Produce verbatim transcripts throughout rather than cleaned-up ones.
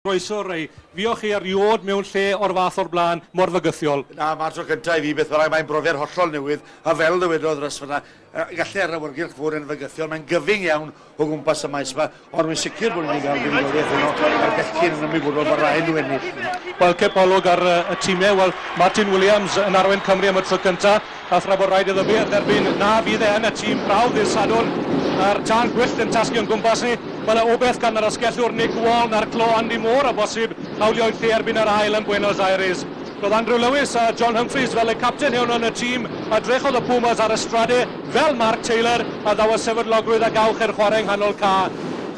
Croeso, Ray. Fuoch chi erioed mewn lle o'r fath o'r blaen, mor fygythiol? Na, mae'r tro cyntaf i fi beth bynnag, mae'n brofiad hollol newydd, a fel ddywedodd Russ fyna, gallai ar awyrgylch fod yn fygythiol, mae'n gyfyng iawn o gwmpas y maes yma, ond wy'n sicr bod ni'n cael fuddugoliaeth yno, a'r bechgyn yn ymwybodol bod rhaid nhw ennill. Wel, cip olwg ar y tîmau, wel, Martin Williams yn arwain Cymru am y tro cyntaf, a thra bod rhaid iddo fe dderbyn na fydd e yn y tîm prawf ddydd Sadwrn, a'r tân gwyllt yn tasgu o'n gwmpas ni. Wel, o beth gan yr asgellwr Nick Wall na'r clo Andy Moore a bosib hawlio'i lle erbyn yr ail yn Buenos Aires. Roedd Andrew Lewis a John Humphreys fel y capten hwn yn y tîm a drechodd y Pumas ar y Strade fel Mark Taylor a ddaw y sefydlogrwydd a gawch i'r chwarae yng nghanol ca.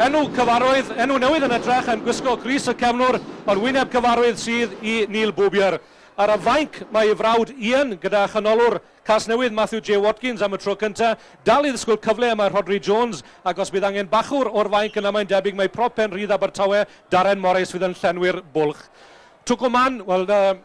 Enw cyfarwydd, enw newydd yn edrych yn gwisgo crys y cefnwr, ond wyneb cyfarwydd sydd i Neil Boobier. Ar y fainc mae ei frawd Ian gyda chanolwr Casnewydd Matthew J. Watkins am y tro cyntaf. Dal i ddisgwyl cyfle yma Rhodri Jones, ac os bydd angen bachwr o'r fainc yna mae'n debyg mae prop pen rhydd Abertawe, Darren Morris fydd yn llenwi'r bwlch. Tucumán, wel, uh,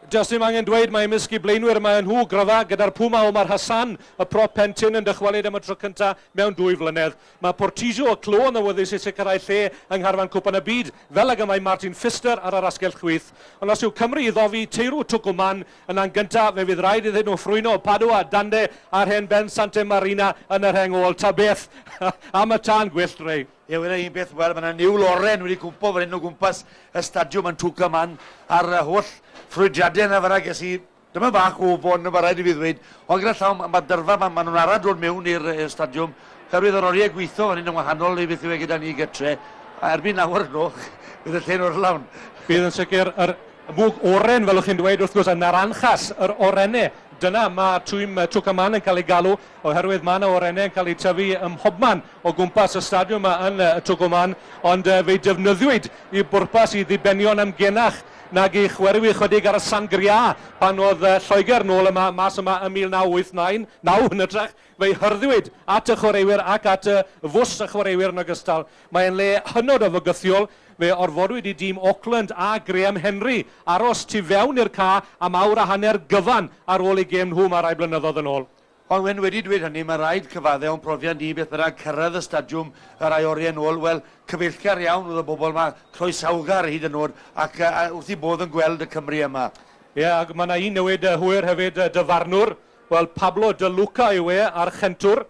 Just ddim angen dweud mae ymysg i blaenwyr mae nhw gryfa gyda'r Puma Omar Hassan, y prop pentyn yn dychwelyd am y tro cyntaf mewn dwy flynedd. Mae Portillo y clo yn awyddus i sicrhau lle yng ngharfan Cwpan y Byd, fel ag y mae Martin Pfister ar yr asgell chwith. Ond os yw Cymru i ddofi teirw Tucumán yna'n gyntaf, fe fydd rhaid iddyn nhw ffrwyno Padua, Dande a'r hen Ben Santa Marina yn yr rheng ôl. Ta beth am y tân gwyllt, Ray. Ie, wele un beth, wel, mae yna niwl oren wedi cwmpo fan hyn o gwmpas y stadiwm yn Tucumán a'r holl ffrwydiadau yna fyna ges i, dyma bach o ofon, mae rhaid i fi ddweud, ond gyda llaw, mae dyrfa, mae ma nhw'n arad dod mewn i'r stadiwm, oherwydd yr oriau gweithio fan hyn yn wahanol i beth yw e gyda ni gytre, a erbyn nawr noch, bydd y lle'n orlawn. Bydd yn sicr yr mwg oren, fel o'ch chi'n dweud, wrth gwrs, y naranjas, yr orennau. Dyna mae tîm Tucumán yn cael ei galw, oherwydd mae yna orennau yn cael ei tyfu ym mhobman o gwmpas y stadiwm yma yn Tucumán, ond fe'i defnyddiwyd i bwrpas i ddibenion amgenach nag i chwerwi chydig ar y sangria pan oedd Lloegr nôl yma, mas yma ym mil naw wyth naw yn hytrach, fe'i hyrddiwyd at y chwaraewyr ac at y fws y chwaraewyr yn ogystal. Mae'n le hynod o fygythiol. Fe orfodwyd i dîm Auckland a Graham Henry aros tu fewn i'r ca am awr a hanner gyfan ar ôl eu gêm nhw mae rai blynyddoedd yn ôl. Ond wen wedi dweud hynny, mae rhaid cyfadde o'n profiad ni beth bynnag cyrraedd y stadiwm y rai oriau yn ôl. Wel, cyfeillgar iawn oedd y bobl yma, croesawgar hyd yn oed, ac uh, wrth i bodd yn gweld y Cymru yma. Ie, yeah, ac mae yna un newid hwyr hefyd, dyfarnwr. Wel, Pablo De Luca yw e a'r chentwr.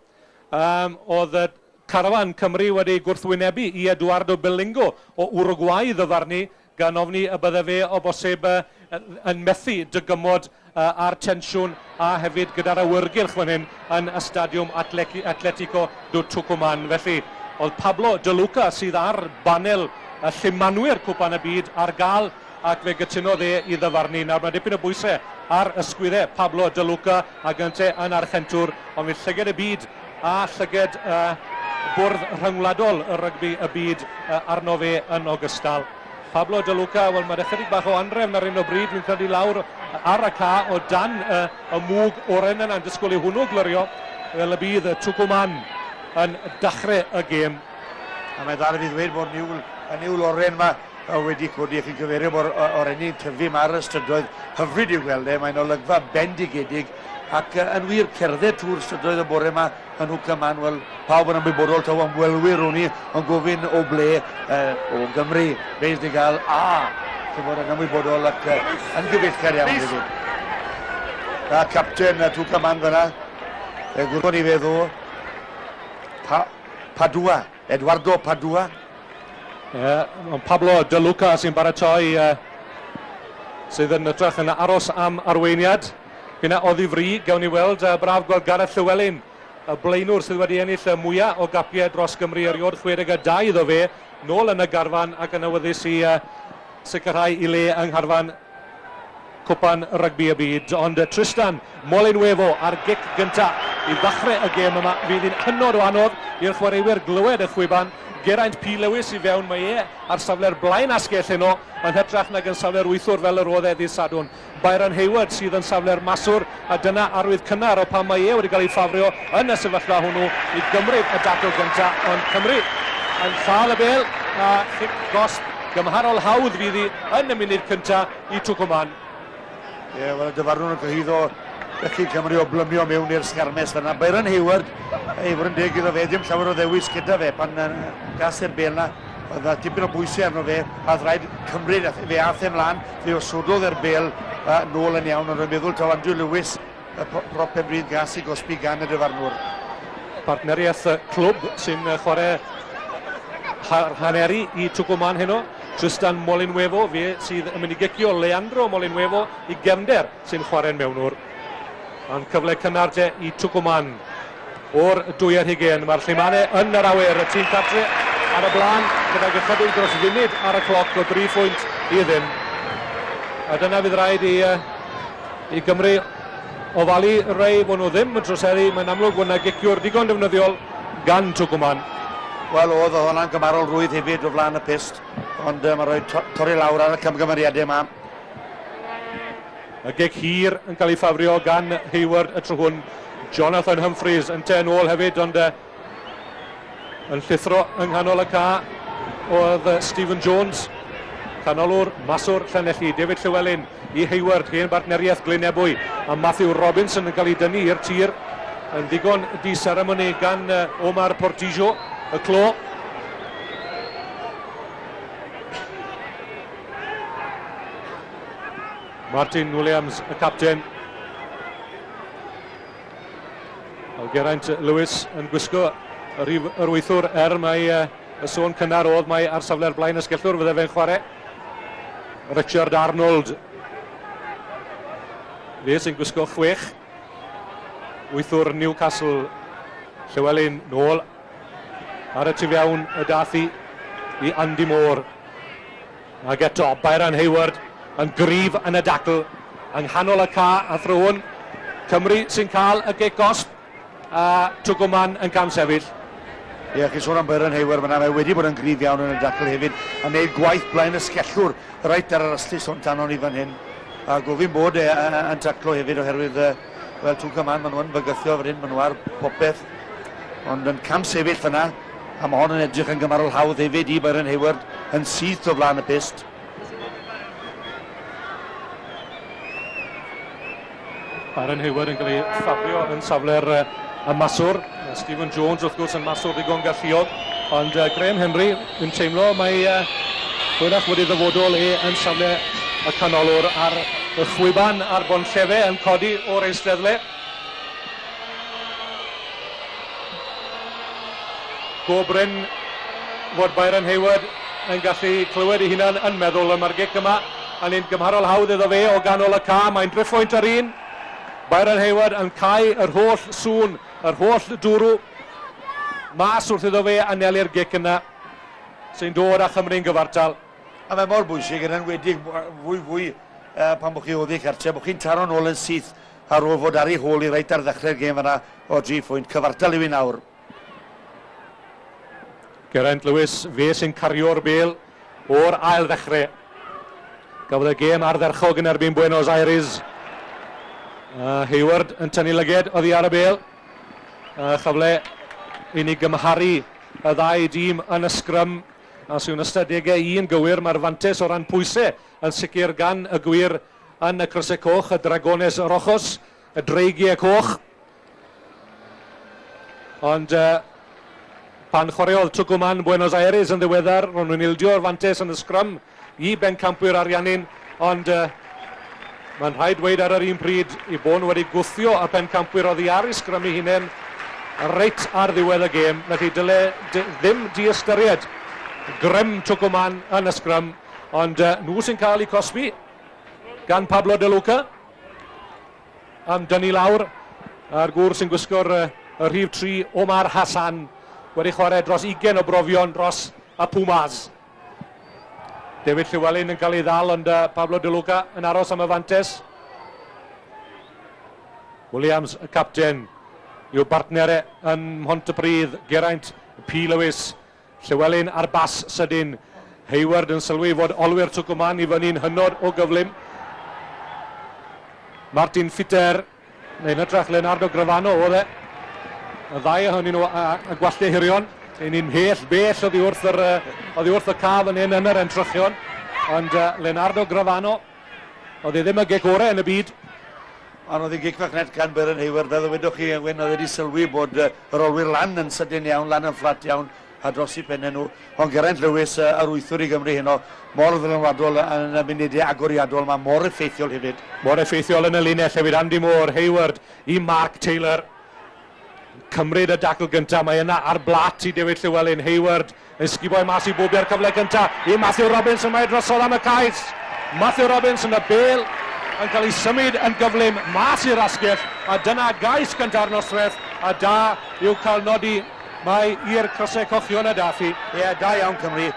Um, oedd carafan Cymru wedi gwrthwynebu i Eduardo Belingo o Uruguay ddyfarnu, gan ofni y bydde fe o bosib yn methu dygymod a'r tensiwn a hefyd gyda'r awyrgylch fan hyn yn y stadiwm Atletico do Tucumán. Felly, oedd Pablo De Luca sydd ar banel y llumanwyr Cwpan y Byd ar gael, ac fe gytunodd e i ddyfarnu. Nawr mae dipyn o bwysau ar ysgwyddau Pablo De Luca ac ynte yn archentwr, ond fydd llyged y byd a llyged uh, bwrdd rhyngwladol y rygbi y byd uh, arno fe yn ogystal. Pablo De Luca, wel mae'n ychydig bach o anrefn ar un o bryd, dwi'n credu lawr ar y ca o dan uh, y mwg oren yna'n disgwyl i hwnnw glirio, fel y bydd Tucumán yn dechrau y gêm. A mae dal i fi ddweud bod niwl, y niwl oren yma wedi codi, chi'n cyfeirio bod orenni'n tyfu yma ar y strydoedd, hyfryd i'w gweld e, mae'n olygfa bendigedig, ac yn wir cerdded trwy'r strydoedd y bore yma yn Tucumán, wel, pawb yn ymwybodol taw ymwelwyr o'n i yn gofyn o ble, uh, o Gymru, beis ni gael a, chi'n bod yn ymwybodol ac uh, yn gyfeillgar iawn hefyd. A capten uh, Tucumán fyna, e, gwrthon i fe ddo, pa, Padua, Eduardo Padua. Yeah, Pablo De Luca sy'n baratoi, uh, sydd yn ytrach yn aros am arweiniad. Fyna oddi fri, gawn ni weld, uh, braf gweld Gareth Llewellyn, y blaenwr sydd wedi ennill y mwyaf o gapiau dros Gymru erioed, chwe deg a dau iddo fe, nôl yn y garfan ac yn awyddus i uh, sicrhau i le yng ngharfan Cwpan Rygbi y Byd. Ond uh, Tristan Molinuevo ar gic gyntaf i ddechrau y gêm yma, fydd hi'n hynod o anodd i'r chwaraewyr glywed y chwiban. Geraint P. Lewis i fewn, mae e ar safle'r blaen asgell heno, yn hytrach nag yn safle'r wythwr fel yr oedd e ddydd Sadwrn. Byron Hayward sydd yn safle'r maswr, a dyna arwydd cynnar o pan mae e wedi cael ei ffafrio yn y sefyllfa hwnnw i gymryd y dacl gyntaf. Ond Cymru yn lladd y bêl, a chic gosb gymharol hawdd fydd hi yn y munud cyntaf i Tucumán. Ie, yeah, wel, y dyfarnwr yn cyhuddo bechgyn Cymru o blymio mewn i'r sgarmes fyna. Byron Hayward, ei fod yn deg iddo fe, dim llawer o ddewis gyda fe pan uh, gas e'r bêl na. Oedd yna dipyn o bwysau arno fe, a oedd rhaid cymryd, fe ath e mlaen, fe osododd e'r bel uh, nôl yn iawn, ond rwy'n meddwl taw Andrew Lewis, y prop Penrhyn gas i gosbi gan y dyfarnwr. Partneriaeth clwb sy'n chwarae haneri i Tucumán heno. Tristan Molinuevo, fe sydd yn mynd i gicio Leandro Molinuevo i gefnder sy'n chwarae'n mewnwr. Ond cyfle cynnar te i Tucumán o'r dwy ar hugain. Mae'r Llumanau yn yr awyr, y tîm cartre ar y blaen gydag ychydig dros funud ar y cloc o dri phwynt i ddim. A dyna fydd rhaid i, i Gymru ofalu rei bod nhw ddim yn troseddu. Mae'n amlwg bod yna giciwr digon defnyddiol gan Tucumán. Wel, oedd oedd hwnna'n gymarol rwydd hefyd o flaen y pyst, ond uh, mae rhoi to torri lawr ar y camgymeriadau yma. Y gic hir yn cael ei ffafrio gan Hayward y tro hwn. Jonathan Humphreys yn te yn ôl hefyd, ond uh, yn llithro yng nghanol y ca oedd Stephen Jones, canolwr maswr Llanelli. David Llewellyn i Hayward, hen bartneriaeth Glyn Ebwy, a Matthew Robinson yn cael ei dynnu i'r tir yn ddigon di-seremoni gan Omar Portillo, y clo. Martin Williams, y capten. Geraint Lewis yn gwisgo yr, yr wythwr er mae y sôn cynnar oedd mae ar safle'r blaen ysgellwr fydde fe'n chwarae. Richard Arnold. Fe sy'n gwisgo chwech. Wythwr Newcastle. Llewellyn nôl ar y tu fewn y dath i i Andy Moore. Ac eto Byron Hayward yn gryf yn y dacl yng nghanol y ca a thro hwn. Cymru sy'n cael y gic gosb a Tucumán yn camsefyll. Ie, yeah, chi sôn am Byron Hayward fyna, mae wedi bod yn gryf iawn yn y dacl hefyd, a wneud gwaith blaen ysgellwr reit ar yr ystlys o'n tanon i fan hyn. A gofyn bod e yn taclo hefyd oherwydd, wel, Tucumán, maen nhw'n bygythio fan hyn, maen nhw ar popeth, ond yn camsefyll fyna, a mae hon yn edrych yn gymarol hawdd hefyd i Byron Hayward yn syth o flaen y pyst. Byron Hayward yn cael ei ffafrio yn safle'r y maswr. Stephen Jones wrth gwrs yn maswr ddigon galluog, ond uh, Graham Henry yn teimlo mae uh, hwyrach wedi ddyfodol e yn safle y canolwr ar y chwiban a'r bonllefe yn codi o'r eisteddle. Go brin fod Byron Hayward yn gallu clywed ei hunan yn meddwl y mae'r gic yma yn un gymharol hawdd iddo fe o ganol y ca. Mae'n driphwynt ar un. Byron Hayward yn cau yr holl sŵn, yr holl dwrw mas wrth iddo fe anelu'r gic yna sy'n dod â Chymru'n gyfartal. A mae mor bwysig yn enwedig fwy fwy uh, pan bod chi oddi cartre, bod chi'n taro nôl yn syth ar ôl fod ar ei hôl i reit ar ddechrau'r gêm yna o dri phwynt. Cyfartal yw i nawr. Geraint Lewis, fe sy'n cario'r bêl o'r ail ddechrau. Gafodd y gêm ardderchog yn erbyn Buenos Aires. Uh, Hayward yn tynnu lyged oddi ar y bêl. Uh, chyfle i ni gymharu y ddau dîm yn y sgrym. A sy'n ystadegau un gywir, mae'r fantes o ran pwysau yn sicr gan y gwir yn y crysau coch, y Dragones Rojos, y Dreigiau Coch. Ond uh, pan chwaraeodd Tucumán Buenos Aires yn ddiweddar, ro'n nhw'n ildio'r fantes yn y sgrym i bencampwyr Ariannin, ond uh, mae'n rhaid dweud ar yr un pryd i bod nhw wedi gwthio y pencampwyr oddi ar eu sgrym eu hunain reit ar ddiwedd y gêm. Felly dyle ddim diystyried grym Tucumán yn y sgrym, ond uh, nhw sy'n cael eu cosbi gan Pablo De Luca am dynnu lawr, a'r gŵr sy'n gwisgo'r uh, y rhif tri, Omar Hassan, wedi chwarae dros ugain o brofion dros y Pumas. David Llewellyn yn cael ei ddal, ond uh, Pablo De Luca yn aros am y fantes. Williams, y capten, i'w bartnere yn Mhontypridd, Geraint P. Lewis. Llewellyn ar bas sydyn. Hayward yn sylwi fod olwyr Tucumán i fyny'n hynod o gyflym. Martin Fitter, neu'n hytrach Leonardo Gravano oedd e. Y ddau ohonyn nhw a, a gwallau hirion. Ein ni'n mhell bell oddi wrth, yr, oddi wrth y caf yn hyn yn yr entrychion. Ond uh, Leonardo Gravano, oedd e ddim y gic orau yn y byd. Ond oedd e gic fach net gan Byron Hayward, fel ddywedwch chi, Wyn, oedd wedi sylwi bod uh, yr olwyr lan yn sydyn iawn, lan yn fflat iawn, a dros i pennau nhw. Ond Geraint Lewis, yr wythwr i Gymru heno, mor ddylanwadol yn y munudau agoriadol, mae mor effeithiol hefyd. Mor effeithiol yn y linell hefyd. Andy Moore, Hayward i Mark Taylor. Cymryd y dacl gyntaf, mae yna ar blat i David Llewellyn. Hayward yn sguboi mas i bobi ar cyfle gyntaf i Matthew Robinson, mae drosodd am y cais. Matthew Robinson, y bel yn cael ei symud yn gyflym mas i'r asgell, a dyna gais gynta'r noswaith, a da yw cael nodi mae i'r crysau cochion y Daffy. Ie, yeah, da iawn Cymru.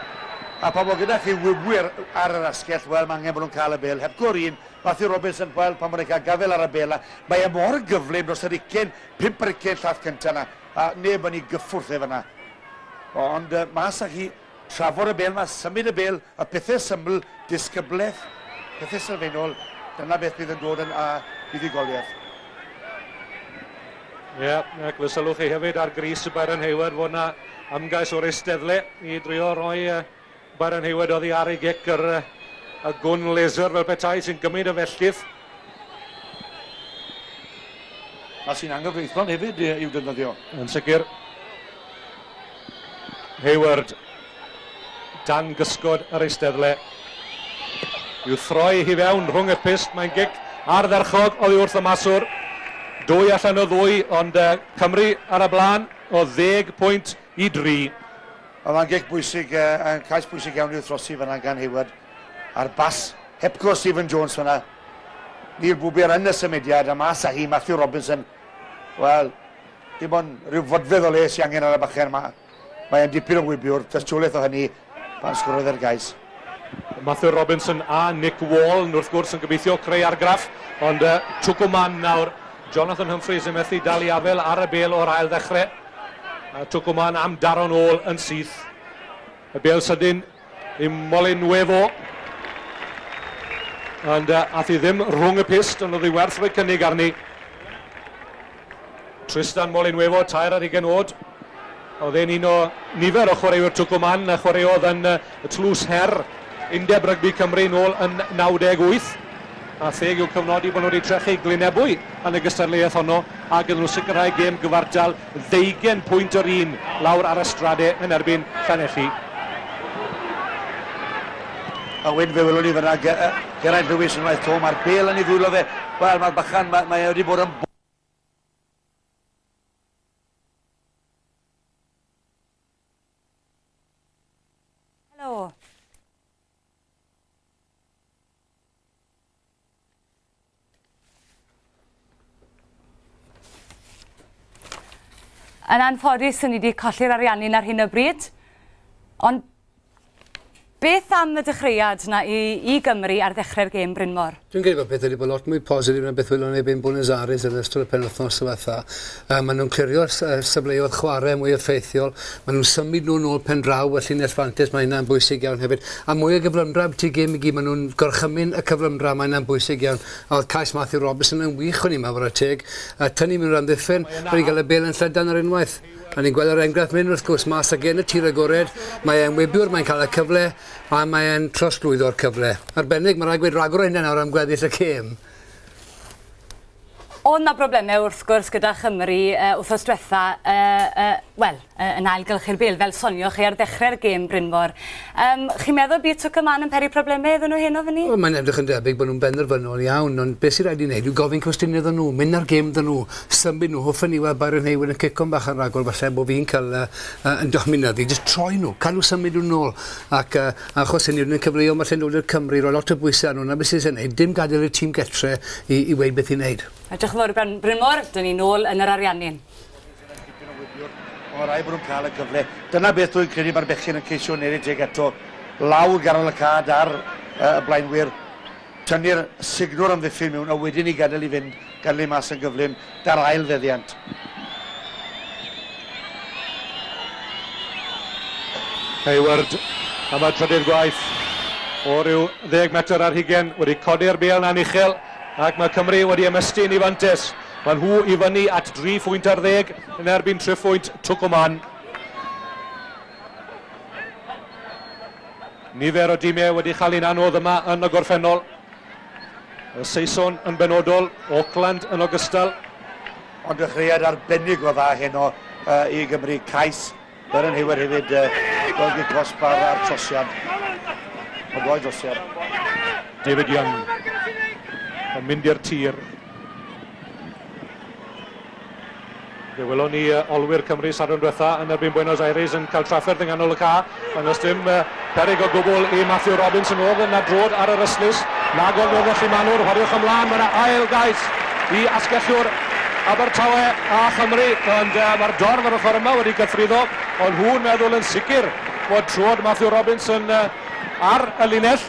A pan bod gyda chi wybwyr ar yr asgell, wel, mae angen bod nhw'n cael y bel. Hepgor un, Matthew Robinson, wel, pan bod nhw'n cael gafel ar y bel, mae e mor gyflym dros yr ugain, pump ar ugain llath cyntaf yna, a neb yn ei gyffwrdd e fyna. Ond uh, mas â chi, trafod y bel, mae symud y bel, a pethau syml, disgyblaeth, pethau sylfaenol, dyna beth bydd yn dod yn uh, buddugoliaeth. Ie, yeah, ac fe sylwch chi hefyd ar gris y Byron Hayward fod yna ymgais o'r eisteddle i drio roi uh, Byron Hayward oddi ar ei gic yr, y gwn laser fel petai sy'n gymryd y felltith. A sy'n anghyfreithlon hefyd i'w defnyddio. Yn sicr. Hayward dan gysgod yr eisteddle. I'w throi hi fewn rhwng y pyst, mae'n gic ardderchog oddi wrth y maswr. Dwy allan o ddwy, ond uh, Cymru ar y blaen o ddeg pwynt i dri. Ond mae'n gic bwysig, uh, cais bwysig iawn i'w throsi fyna gan Hayward. A'r bas, hepgo Stephen Jones fyna. Neil Bwbier yn y symudiad, a mas â hi, Matthew Robinson. Wel, dim ond rhyw fodfedd o le sy'n angen ar y bachgen yma. Mae'n dipyn o wybiwr, tystiolaeth o hynny pan sgorodd yr gais. Matthew Robinson a Nick Wall, wrth gwrs, yn gobeithio creu argraff, ond uh, Tucumán nawr. Jonathan Humphreys yn methu dal i afel ar y bel o'r ail ddechrau. A Tucumán am daro'n ôl yn syth. Y bel sydyn i Molinuevo. Ond uh, ath hi ddim rhwng y pyst, ond oedd hi werth rhoi cynnig arni. Tristan Molinuevo, tair ar hugain oed. Oedd e'n un o nifer o chwaraewyr Tucumán, a chwaraeodd yn uh, y Tlws Her Undeb Rygbi Cymru nôl yn naw deg wyth. A theg yw cyfnodi bod nhw wedi trechu Glynebwy yn y gystadleuaeth honno, a gyda nhw sicrhau gêm gyfartal ddeugain pwynt yr un lawr ar y stradau yn erbyn Llanelli. A wedyn fe welwn ni fyna Geraint Lewis unwaith to, mae'r bel yn ei ddwylo fe. Wel, mae'r bachan, mae, mae wedi bod yn Helo. Yn anffodus, ni wedi colli'r Ariannin ar hyn o bryd, ond beth am y dechreuad na i, i Gymru ar ddechrau'r gêm, Brynmor? Dwi'n credu bod pethau wedi bod lot mwy positif na beth welon ni yn Buenos Aires yn ystod y penwythnos diwetha. Uh, maen nhw'n clirio'r safleoedd chwarae mwy effeithiol, maen nhw'n symud nhw'n ôl pen draw y llinell fantes, mae hynna'n bwysig iawn hefyd. A mwy o gyflymdra byti gêm i gyd, maen nhw'n gorchymyn y cyflymdra, mae hynna'n bwysig iawn. A oedd cais Matthew Robinson yn wych o'n i'n meddwl, ar teg. Uh, tynnu mewn amddiffyn, wedi gael y bel yn llydan ar unwaith. A ni'n gweld yr enghraifft mynd wrth gwrs mas ag yn y tir agored, mae e'n wybiwr, mae'n cael y cyfle, a mae e'n trosglwyddo'r cyfle. Arbennig, mae'n rhaid gweud rhagor o hynna nawr am gweddill y gêm. Oedd 'na broblemau wrth gwrs gyda Chymru uh, wythnos diwetha, uh, uh, wel, uh, yn ailgylchu'r bêl, fel sonioch chi ar ddechrau'r gêm, Brynmor. Um, chi'n meddwl bydd Tucumán yn peri problemau iddyn nhw heno fyny? Wel, mae'n edrych yn debyg bod nhw'n benderfynol iawn, ond beth sy'n rhaid i wneud yw gofyn cwestiynau iddyn nhw, mynd ar gêm iddyn nhw, symud nhw, hoffen ni weld Byron Hayward yn cico'n bach yn rhagor, falle bod fi'n cael uh, uh, yn dominyddu, jyst troi nhw, cael nhw symud nhw nôl, ac uh, achos hynny nhw'n cyfleoedd falle nôl i'r Cymru, rhoi lot o bwysau arnyn nhw, na beth sy'n ei wneud, dim gadael i'r tîm getre i, i weud beth i wneud. Diolch yn fawr, Brynmor, dyn ni nôl yn yr Ariannin. Mae rhaid bod nhw'n cael y cyfle. Dyna beth dwi'n credu mae'r bechgyn yn ceisio wneud teg eto. Lawr ganol y cad ar y blaenwyr, tynnu'r signwr amddiffyn mewn, a wedyn i gadael i fynd, gadael i mas yn gyflym, da'r ail feddiant. Hayward am y trydydd gwaith o ryw ddeg metr ar hugain, wedi codi'r bêl na'n uchel, ac mae Cymru wedi ymestyn i fantes. Mae nhw i fyny at dri phwynt ar ddeg yn erbyn tri phwynt Tucumán. Nifer o dimau wedi chael un anodd yma yn y gorffennol. Y Saeson yn benodol, Auckland yn ogystal. Ond dechreuad arbennig o dda heno uh, i Gymru. Cais Byron Hayward hefyd uh, gweld i cosb ar, ar trosiad. O doi drosiad. David Young yn mynd i'r tir. Fe welon ni uh, olwyr Cymru Sadwrn diwetha yn erbyn Buenos Aires yn cael trafferth yng nghanol y ca. Ond oes dim uh, peryg o gwbl i Matthew Robinson oedd yn adrod ar yr ystlys. Nag oedd oedd felly Manwr, chwaraewch ymlaen, mae yna ail gais i asgellwr Abertawe a Chymru, ond uh, mae'r dorf ar ochr yma wedi gythruddo, ond hwn meddwl yn sicr bod trod Matthew Robinson uh, ar y linell.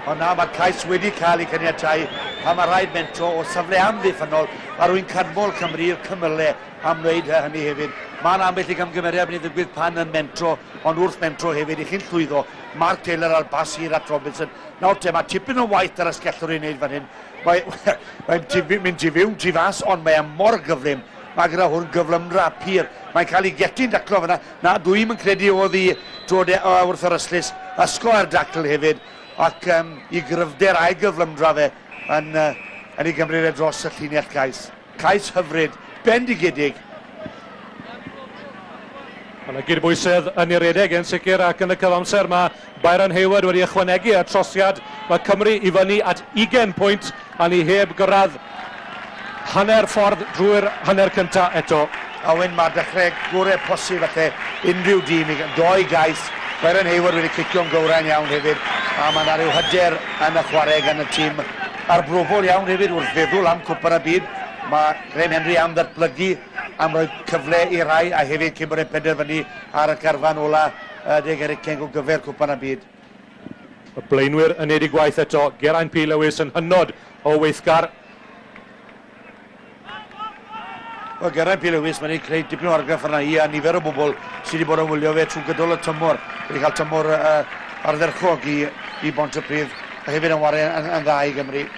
Ond na, mae'r cais wedi cael ei caniatáu a mae rhaid mentro o safle amddiffynnol. Mae rwy'n canmol Cymru i'r cymylau am wneud hynny hefyd. Mae'n ambell i gamgymeriad mynd i ddigwydd pan yn mentro, ond wrth mentro hefyd i chi'n llwyddo. Mark Taylor ar bas hir at Robinson. Nawr te, mae tipyn o waith ar asgellwr i wneud fan hyn. Mae'n mae mynd tu fewn, tu fas, ond mae e mor gyflym. Mae gyda hwn gyflymdra pur. Mae'n cael ei getu'n daclo fyna. Na, dwi'm yn credu oedd i drod e wrth yr ystlys. Ysgo ar dacl hefyd, ac um, i gryfder a'i gyflymdra fe yn, uh, yn ei gymryd e dros y llinell cais. Cais hyfryd, bendigedig. Mae yna gydbwysedd yn ei redeg yn sicr, ac yn y cyfamser mae Byron Hayward wedi ychwanegu y trosiad. Mae Cymru i fyny at ugain pwynt a ni heb gyrraedd hanner ffordd drwy'r hanner cyntaf eto. A wen mae dechrau gorau posib falle unrhyw dîm, doi gais. Byron Hayward wedi cicio'n gywrain iawn hefyd, a mae yna rhyw hyder yn y chwarae gan y tîm arbrofol iawn hefyd wrth feddwl am Cwpan y Byd. Mae Graham Henry am ddatblygu, am roi cyfle i rai, a hefyd cyn bod e'n penderfynu ar y carfan ola deg ar ugain o gyfer Cwpan y Byd. Y blaenwyr yn neud eu gwaith eto. Geraint P. Lewis yn hynod o weithgar. Wel, Geraint P. Lewis, mae'n ei creu dipyn o argraff arna i a nifer o bobl sydd wedi bod yn wylio fe trwy gydol y tymor. Wedi cael tymor uh, ardderchog i, i Bontypridd, a hefyd yn wario yn, yn dda i Gymru.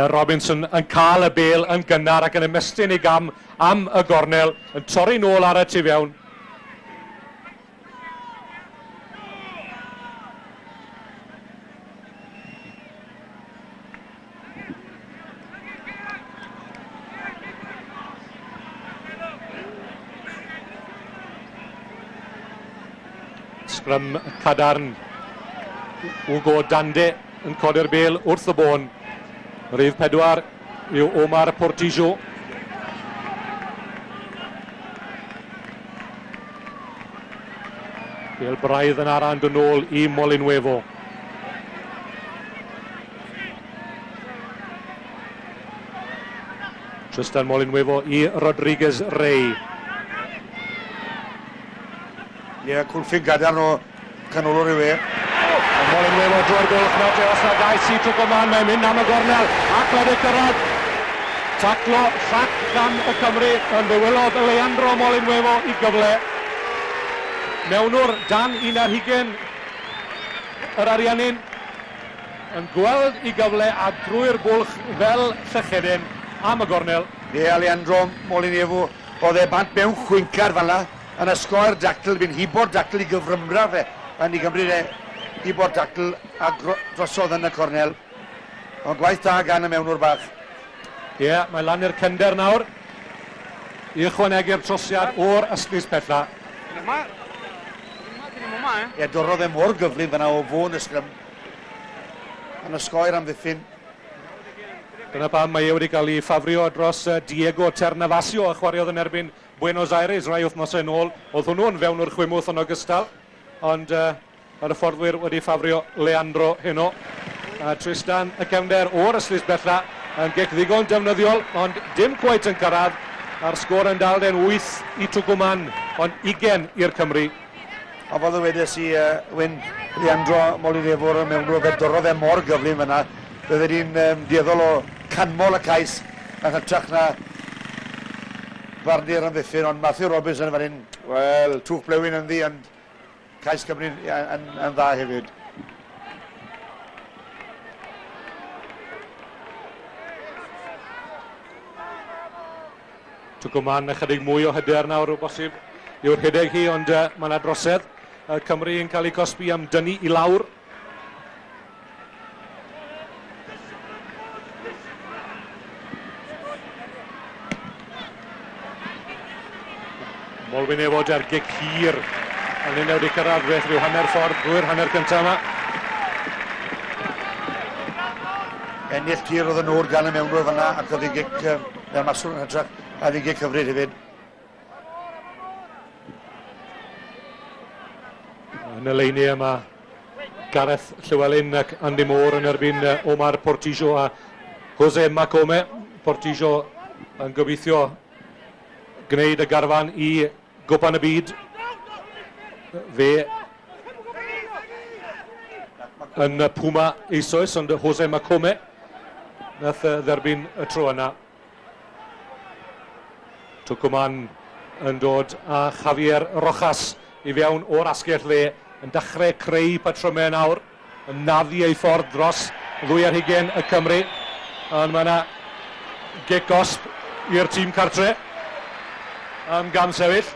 Robinson yn cael y bêl yn gynnar ac yn ymestyn ei gam am y gornel, yn torri nôl ar y tu fewn. Sgrym cadarn. Hugo Dande yn codi'r bêl wrth y bôn. Rhif pedwar yw Omar Portillo. Bêl braidd yn arand yn ôl i Molinuevo. Tristan Molinuevo i Rodriguez Rey. Ie, yeah, cwlffyn gadarn o canolwr yw e. Molinuevo drwy'r bwlch nawr, os na gais i Twcwman, mae'n mynd am y gornel ac wedi cyrraedd. Taclo llac gan y Cymru, yn ddywylodd Leandro Molinuevo i gyfle. Mewnwr dan un ar hugain yr Ariannin yn gweld i gyfle a drwy'r bwlch fel llechedyn am y gornel. Ie, Leandro Molinuevo, oedd e bant mewn chwincar fel yna, yn ysgoi'r dacl, fi'n hibo'r dacl i gyfrymra fe, yn ei gymryd e hibo'r dacl a drosodd yn y cornel. Ond gwaith da gan y mewnwr bach. Ie, yeah, mae lan i'r cender nawr i ychwanegu'r trosiad o'r ystlys pella. Ie, dorrodd e mor gyflym fyna o fôn y sgrym. Yn ysgoi'r amddiffyn. Dyna pam mae e wedi cael ei ffafrio dros Diego Ternavasio, a chwaraeodd yn erbyn Buenos Aires rai wythnosau yn ôl. Oedd hwnnw'n fewn o'r chwimwth yn ogystal, ond uh, mae'r hyfforddwyr wedi ffafrio Leandro heno. A Tristan y cefnder o'r ystlys bella yn gic ddigon defnyddiol, ond dim cweit yn cyrraedd. A'r sgôr yn dal den wyth i Twcwman, ond ugain i'r Cymru. A fel ddywedes i, uh, Wyn, Leandro Molinuevo mewn fe dorrodd e mor gyflym fyna. Bydde di'n um, dueddol o canmol y cais yn hytrach na barnu'r amddiffyn, ond Matthew Robinson fan hyn, wel, twch blewyn ynddi, ond cais Cymru yn, yn, yn dda hefyd. Twcwman ychydig mwy o hyder nawr o bosib yw'r rhedeg hi, ond uh, mae yna drosedd. Uh, Cymru yn cael ei cosbi am dynnu i lawr. Molinuevo ar gic hir. A ni'n wedi cyrraedd beth rhyw hanner ffordd drwy'r hanner cyntaf yma. Ennill tir oedd yn o'r gan y mewnwr fyna ac oedd ei gic, neu'r maswr yn hytrach, a oedd ei gic hyfryd hefyd. Yn y leini yma, Gareth Llywelyn ac Andy Moore yn erbyn Omar Portillo a Jose Macome. Portillo yn gobeithio gwneud y garfan i Gwpan y Byd. Fe yn Puma eisoes, ond Jose Macome nath dderbyn y tro yna. Tucumán yn dod â Javier Rojas i fewn o'r asgell dde, yn dechrau creu patrymau nawr, yn naddu ei ffordd dros ddwy ar hugain y Cymru. Ond mae yna gic gosb i'r tîm cartre am gam sefyll.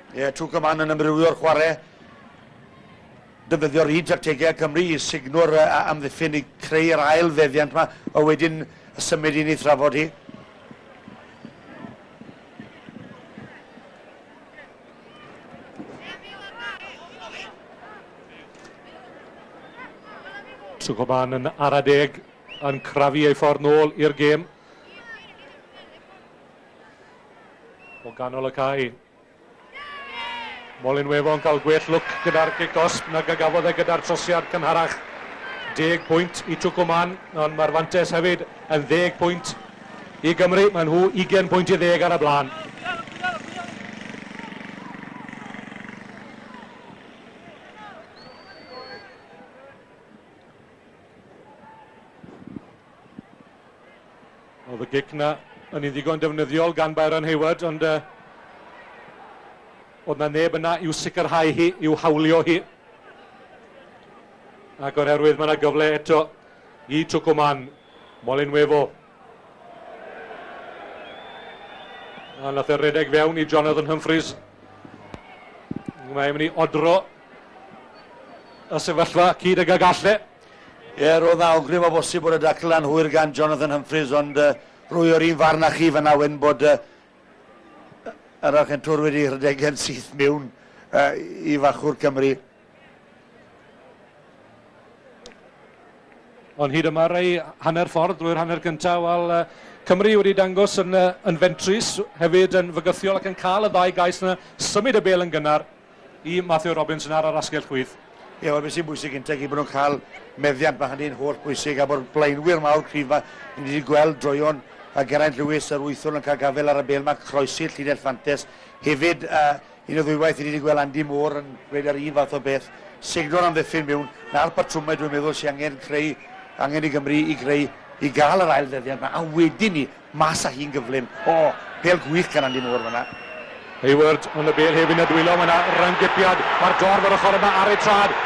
Ie, yeah, Tucumán yn amrywio'r chwarae. Defnyddio'r un tactegau Cymru i signwr amddiffyn i creu'r ail feddiant yma, a wedyn symud i ni thrafod hi. Tucumán yn ara deg yn crafu ei ffordd nôl i'r gêm. O ganol y cae. Molinuevo yn cael gwell lwc gyda'r gic gosb nag a gafodd e gyda'r trosiad cynharach. Deg pwynt i Tucumán, ond mae'r fantes hefyd yn ddeg pwynt i Gymru. Mae nhw ugain pwynt i ddeg ar y blaen. Oedd y gic na yn un ddigon defnyddiol gan Byron Hayward, ond uh, oedd na neb yna i'w sicrhau hi, i'w hawlio hi. Ac o'r herwydd mae yna gyfle eto i Tucumán. Molinuevo. A nath e redeg fewn i Jonathan Humphreys. Mae'n mynd i odro y sefyllfa cyd ag y galle. Ie, roedd na awgrym o bosib bod y dacl anhwyr gan Jonathan Humphreys, ond uh, rwy o'r un farn â chi fan'na wen bod uh, yr Archentwr wedi rhedeg yn syth mewn uh, i fachwr Cymru. Ond hyd yma rei hanner ffordd drwy'r hanner cyntaf, wel uh, Cymru wedi dangos yn, uh, yn fentrus, hefyd yn fygythiol ac yn cael y ddau gais yna, symud y bêl yn gynnar i Matthew Robinson ar yr asgell chwith. Ie, wel, beth sy'n bwysig gyntaf i bod nhw'n cael meddiant, mae hynny'n holl bwysig, a bod blaenwyr mawr cryf yma, ni wedi gweld droeon a Geraint Lewis yr wythwr yn cael gafel ar y bêl, mae croesi'r llinell fantes. Hefyd, uh, un o ddwywaith, ni wedi gweld Andy Moore yn gweud yr un fath o beth. Signor amddiffyn mewn, na'r patrymau dwi'n meddwl sy'n angen creu, angen i Gymru i greu, i gael yr ail ddeddiant yma, a wedyn ni, mas â hi'n gyflym. O, bêl gwych gan Andy Moore fan'na. Hayward, ond y bêl hefyd yn y dwylo, mae yna rhynggipiad, mae'r dorf ar ochr yma ar ei trad.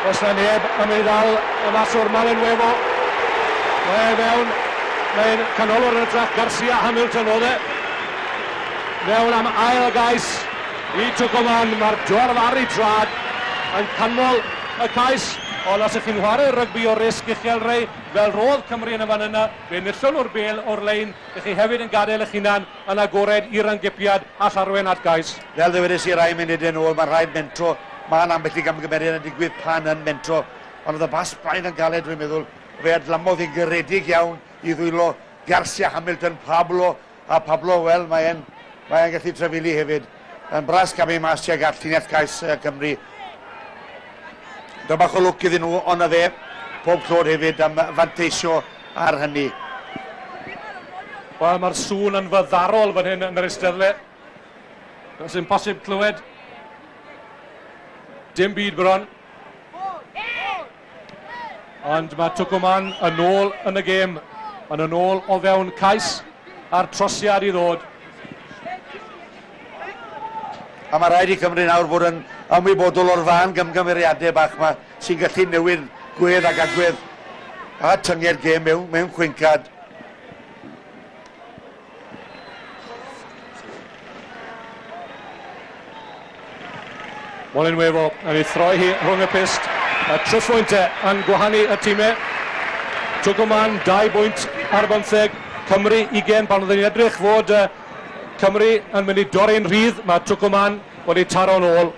Oes na neb yn ei ddal y maswr Molinuevo. Mae e fewn, mae'n canolwr yn ytrach, Garcia Hamilton oedd e. Mewn am ail gais i Tucumán, mae'r dorf ar ei trad yn canmol y cais. Ond os ych chi'n chwarae rygbi o risg uchel rei, fel roedd Cymru yn y fan yna, fe enillon nhw'r bêl o'r lein, ych chi hefyd yn gadael eich hunan yn agored i'r rhynggipiad a llarwen at gais. Fel ddywedes i rai munudau nôl, mae'n rhaid mentro, mae'n ambell i gamgymeriad yn digwydd pan yn mentro, ond oedd y bas braidd yn galed, dwi'n meddwl, fe adlamodd hi'n garedig iawn i ddwylo Garcia Hamilton, Pablo, a Pablo, wel, mae'n mae gallu trafili hefyd. Yn bras camu mas tuag at llinell cais Cymru. Dyma bach o lwc iddyn nhw, ond na fe, pob clod hefyd am fanteisio ar hynny. Wel, mae'r sŵn yn fyddarol fan hyn yn yr eisteddle. Does dim posib clywed. Dim byd bron. Ond mae Tucumán yn ôl yn y gêm. Yn yn ôl o fewn cais a'r trosiad i ddod. A mae rhaid i Cymru nawr fod yn ymwybodol o'r fan gymgymeriadau bach yma sy'n gallu newid gwedd ac agwedd a tynged gêm mewn, mewn chwincad. Molinuevo yn ei throi hi rhwng y pyst. Y tri phwyntau yn gwahanu y tîmau. Tucumán, dau bwynt ar bymtheg, Cymru ugain, pan oedden ni'n edrych fod uh, Cymru yn mynd i dorri'n rhydd, mae Tucumán wedi taro'n ôl.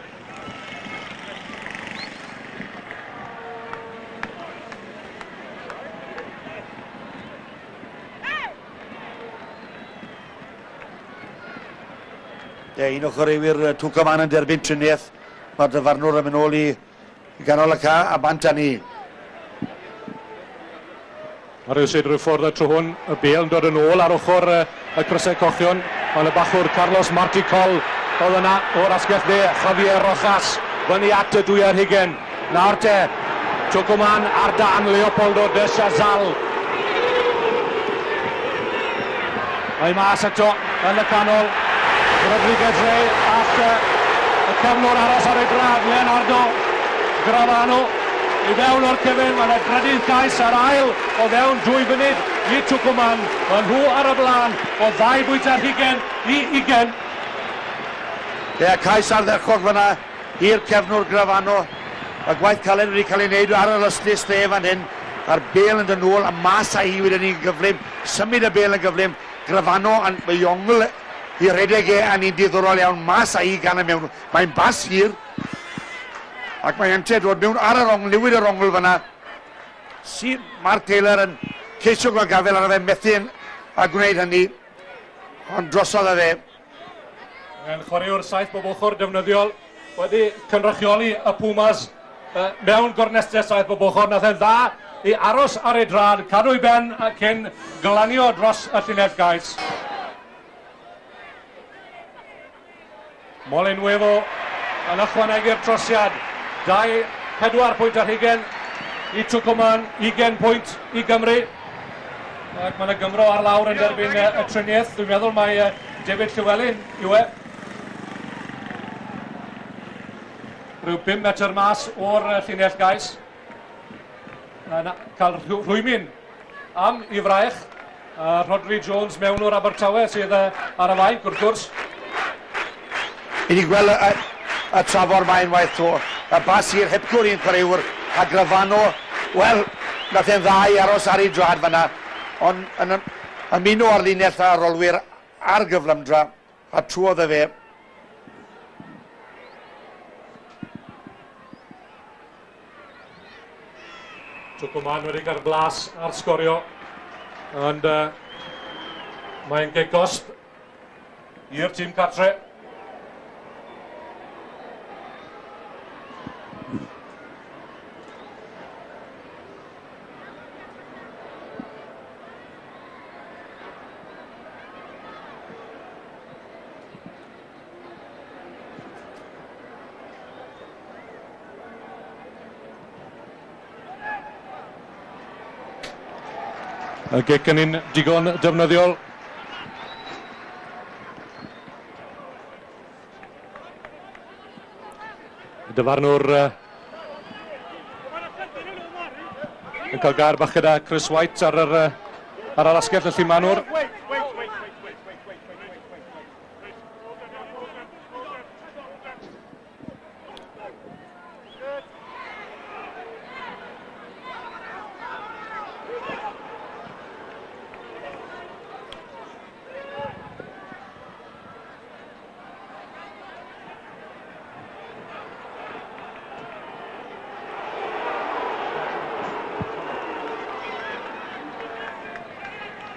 Ie, un o chwaraewyr Tucumán yn derbyn triniaeth. Mae'r dyfarnwr yn mynd ôl i ganol y ca a bant â ni. A rhywsut rhyw ffordd y tro hwn, y bêl yn dod yn ôl ar ochr y crysau cochion. Ond y bachwr Carlos Marticol oedd yna o'r asgell dde, Javier Rojas fyny at y dwy ar hugain. Nawr te, Tucumán ar dan Leopoldo de Chazal. Mae mas eto yn y canol. Rodriguez Rey ac y cefnwr aros ar ei drad, Leonardo Gravano. I fewn o'r cefn, mae yna drydydd cais ar ail o fewn dwy funud i Tucumán. Mae nhw ar y blaen o ddau bwynt ar hugain i ugain. Ie, cais ardderchog fyna i'r cefnwr Gravano. Y gwaith caled wedi cael ei wneud ar yr ystlys dde fan hyn. A'r bêl yn dod nôl a mas â hi wedyn ni'n gyflym. Symud y bêl yn gyflym. Gravano yn ei ongl i redeg e a ni'n diddorol iawn. Mas â hi gan y mewn. Mae'n bas hir. Ac mae ynte dod mewn ar yr ongl, newid yr ongl fyna. Si Mark Taylor yn ceisio gweld gafel arno fe, methu a gwneud hynny. Ond drosodd â fe. Mae'n chwaraewr saith bob ochr defnyddiol wedi cynrychioli y Pumas mewn gornestau saith bob ochr. Nath e'n dda i aros ar ei drad, cadw ei ben cyn glanio dros y llinell gais. Molinuevo yn ychwanegu'r trosiad. Dau, pedwar pwynt ar hugain i Tucumán, ugain pwynt i Gymru. Ac mae yna Gymro ar lawr yn derbyn y triniaeth. Dwi'n meddwl mai David Llewellyn yw e. Rhyw bum metr mas o'r llinell gais. Yn cael rhwymyn am i fraich. A Rhodri Jones mewn o'r Abertawe sydd ar y fainc wrth gwrs. I ni gweld y, y trafor mae'n waith to. Y bas i'r hepgwr i'n chwaraewr a Gravano, wel, nath e'n dda i aros ar ei drad fyna, ond yn ymuno ar linell a'r rolwyr ar gyflymdra, a trwodd e fe. Tucumán wedi cael blas ar sgorio, ond uh, mae'n gic gosb i'r tîm cartre. Y gic yn un digon defnyddiol. Y dyfarnwr uh, yn cael gair bach gyda Chris White ar yr, ar yr asgell y llumanwr.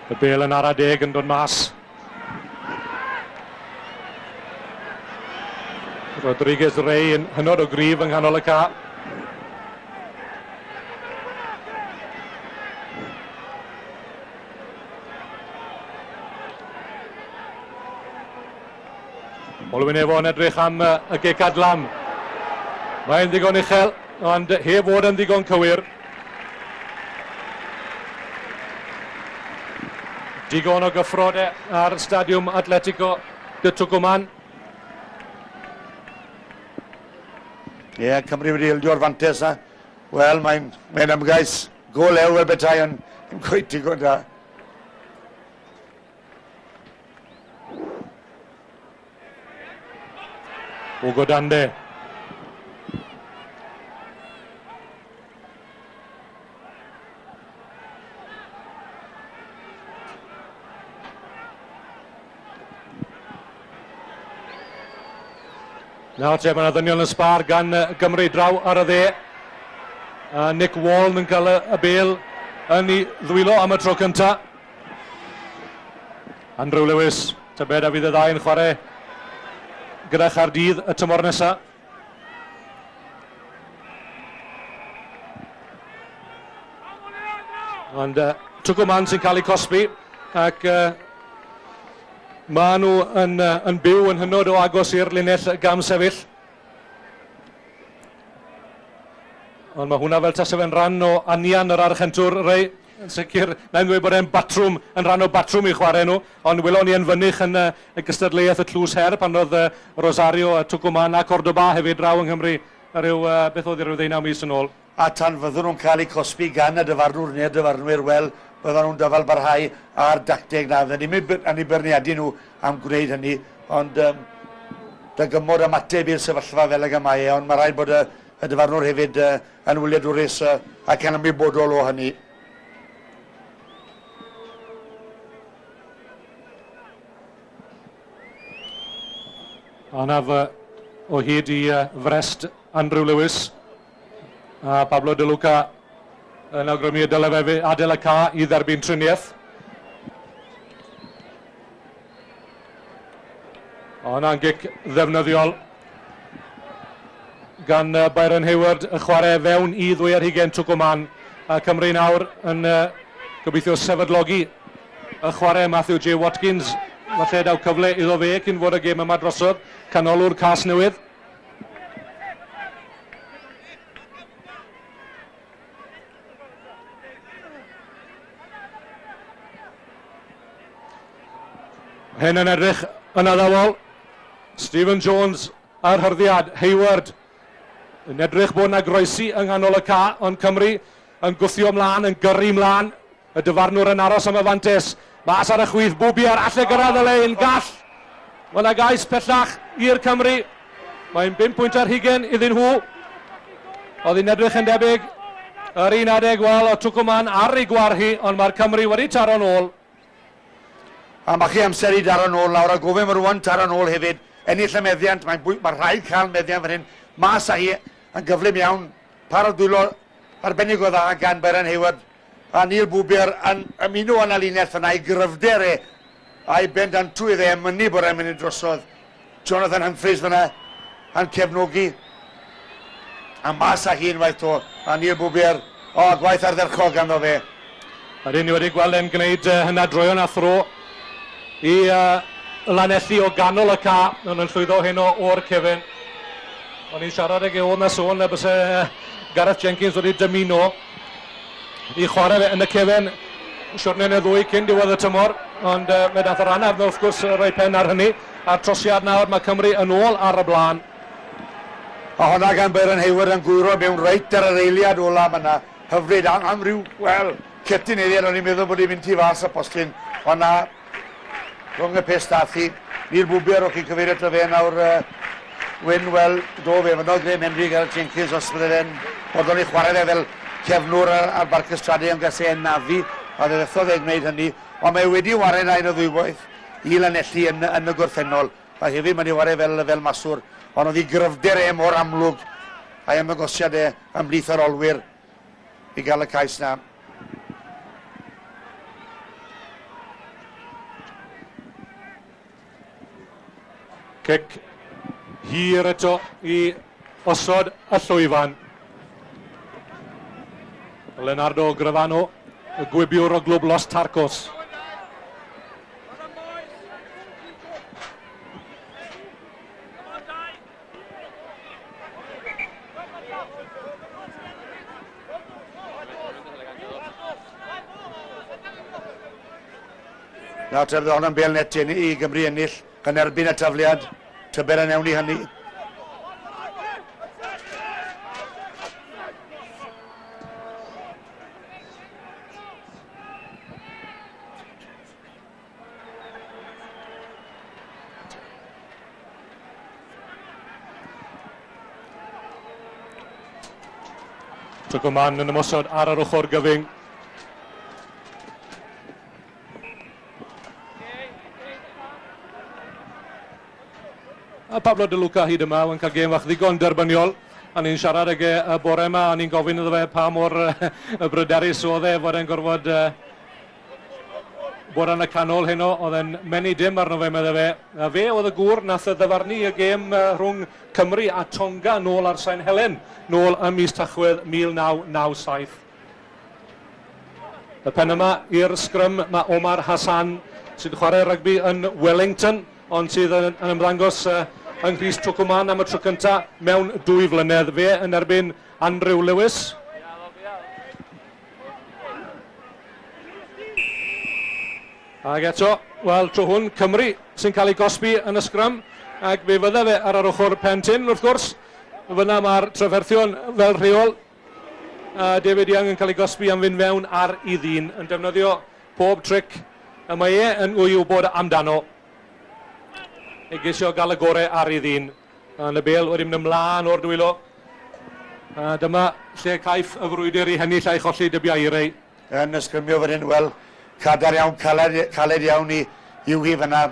Y bêl yn ara deg yn dod mas. Rodriguez Rey yn hynod o gryf yng nghanol y ca. Molinuevo yn edrych am y gic adlam. Mae'n ddigon uchel, ond heb fod yn ddigon cywir. Digon o gyffrode ar Stadiwm Atletico de Tucumán. Ie, yeah, Cymru wedi ildio'r fantes na. Wel, mae'n mae ymgais go lew fel betai, ond ddim cweit digon da. Hugo Dande. Nawr te, mae yna ddynion yn sbar gan Gymru draw ar y dde. A Nick Wall yn cael y bel yn ei ddwylo am y tro cyntaf. Andrew Lewis, tybed a fydd y ddau yn chwarae gyda Chaerdydd y tymor nesaf. Ond uh, Tucumán sy'n cael ei cosbi ac uh, maen nhw yn, uh, yn byw yn hynod o agos i'r linell gam sefyll. Ond mae hwnna fel tase fe'n rhan o anian yr Archentwr, Rei. Yn sicr, na'n dweud bod e'n batrwm, yn rhan o batrwm i chwarae nhw, ond welon ni yn fynych yn uh, y gystadleuaeth y Tlws Her pan oedd uh, Rosario, Tucumán a Cordoba hefyd draw yng Nghymru rhyw, uh, beth oedd i ryw ddeunaw mis yn ôl. A tan fyddwn nhw'n cael eu cosbi gan y dyfarnwr neu'r dyfarnwyr, wel, byddan nhw'n dyfal barhau a'r dacteg na. Fydden ni'n yn eu beirniadu nhw am gwneud hynny, ond um, dygymod ymateb i'r sefyllfa fel ag y mae e, ond mae rhaid bod y, y dyfarnwr hefyd uh, yn wyliadwrus uh, ac yn ymwybodol o hynny. Anaf o hyd i frest Andrew Lewis a Pablo De Luca yn awgrymu y dylai fe adael y ca i dderbyn triniaeth. O, hwnna'n gic ddefnyddiol gan Byron Hayward, y chwarae fewn i ddwy ar hugain Tucumán. A Cymru nawr yn gobeithio sefydlogi y chwarae Matthew J Watkins. Falle daw cyfle iddo fe cyn fod y gêm yma drosodd. Canolwr Casnewydd. Hyn yn edrych yn addawol. Stephen Jones a'r hyrddiad. Hayward yn edrych bod yna groesi yng nghanol y ca, ond Cymru yn gwthio mlaen, yn gyrru mlaen. Y dyfarnwr yn aros am y fantes. Mas ar y chwith, Bwbier, alle gyrraedd y lein, gall. Mae yna gais pellach i'r Cymru. Mae'n bum pwynt ar hugain iddyn nhw. Oedd hi'n edrych yn debyg yr un adeg, wel, o Tucumán ar ei gwarchi, ond mae'r Cymru wedi taro'n ôl. A mae chi amser i daro'n ôl nawr, a gofyn mae rwan taro'n ôl hefyd. Ennill y meddiant, mae'n mae rhaid cael meddiant fan hyn. Mas â hi yn gyflym iawn, par o dwylo arbennig o dda gan Byron Hayward. A Neil Bwbier yn ymuno yn y linell yna i gryfder e a'i bendantwydd e, mynnu bod e'n mynd drosodd. Jonathan Humphreys fyna yn cefnogi. A mas â hi unwaith to. A Neil Bwbier, o, gwaith ardderchog ganddo fe. A dyn ni wedi gweld e'n gwneud uh, hynna droeon a thro i uh, Lanelli o ganol y ca. Ond yn llwyddo heno o'r cefen. O'n i'n siarad ag e oedd na sôn na byse Gareth Jenkins wedi dymuno i chwarae fe yn y cefen siwrne neu ddwy cyn diwedd y tymor, ond uh, mae dath yr anaf wrth gwrs rhoi pen ar hynny. A'r trosiad nawr, mae Cymru yn ôl ar y blaen. A hwnna gan Byron Hayward yn gwyro mewn reit ar yr eiliad ola yna. Hyfryd, am, am ryw, wel, cytun eiliad, o'n i'n meddwl bod hi'n mynd tu fas y postyn. Ond na, rhwng y peth dath hi. Neil Bwbier, o'ch chi'n cyfeirio ato fe nawr, uh, Wyn, wel, do fe, fynodd Graham Henry Gareth Jenkins, os bydde fe'n bodlon i chwarae fe fel cefnwr ar, ar Barc y Strade yn gase e'n nafu, a fe fethodd e'n gwneud hynny, ond mae wedi ware na un o ddwywaith i Lanelli yn, yn y gorffennol, a hefyd mae'n ei ware fel, fel maswr, ond oedd ei gryfder e mor amlwg a'i ymddangosiad e ymhlith yr olwyr i gael y cais na. Cic hir eto i osod y llwyfan. Leonardo Gravano, y gwibiwr o glwb Los Tarcos. Nawr te, bydd hwnna'n bêl net i Gymru ennill yn erbyn y tafliad. Tybed a newn ni hynny. Tucumán yn ymosod ar yr ochr gyfyng. Pablo De Luca hyd yma, yn cael gêm fach ddigon derbyniol. A ni'n siarad ag e y bore yma, a ni'n gofyn iddo fe pa mor bryderus oedd e fod e'n gorfod bod yn y canol heno, oedd e'n menu dim arno fe, medde fe. A fe oedd y gŵr nath ddyfarnu y gêm rhwng Cymru a Tonga nôl ar Sain Helen, nôl ym mis Tachwedd mil naw naw saith. Y pen yma i'r sgrym mae Omar Hassan sydd yn chwarae rygbi yn Wellington, ond sydd yn, yn ymddangos uh, yng Nghrys Twcwman am y tro cyntaf mewn dwy flynedd. Fe yn erbyn Andrew Lewis. Ac eto, wel, tro hwn, Cymru sy'n cael ei gosbi yn y sgrym, ac fe fydde fe ar yr ochr pen tyn, wrth gwrs. Fyna mae'r trafferthion fel rheol. A David Young yn cael ei gosbi am fynd mewn ar ei ddyn, yn defnyddio pob tric y mae e yn wybod amdano. I geisio gael y gorau ar ei ddyn. A y bêl wedi mynd ymlaen o'r dwylo. A dyma lle caiff y frwydr i hennill a'i cholli dybiau i rei. Yn ysgrymio fan hyn, wel, cadar iawn, caled, caled iawn i i'w hi fyna.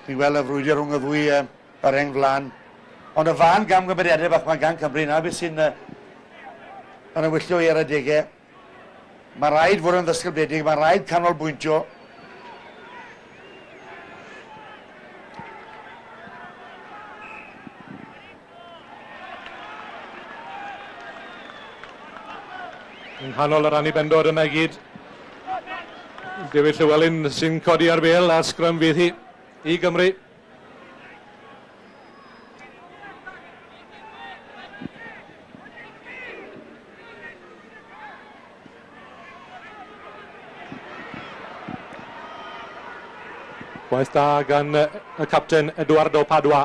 Chi'n gweld y frwydr rhwng y ddwy uh, yr rheng flaen. Ond y fan gamgymeriadau bach mae gan Cymru, na beth sy'n uh, yn ymwyllio i ar adegau. Mae rhaid fod yn ddisgybledig, mae rhaid canolbwyntio. Yng nghanol yr annibendod yna i gyd. David Llewellyn sy'n codi ar bêl a sgrym fydd hi i Gymru. Gwaith da gan y capten Eduardo Padua.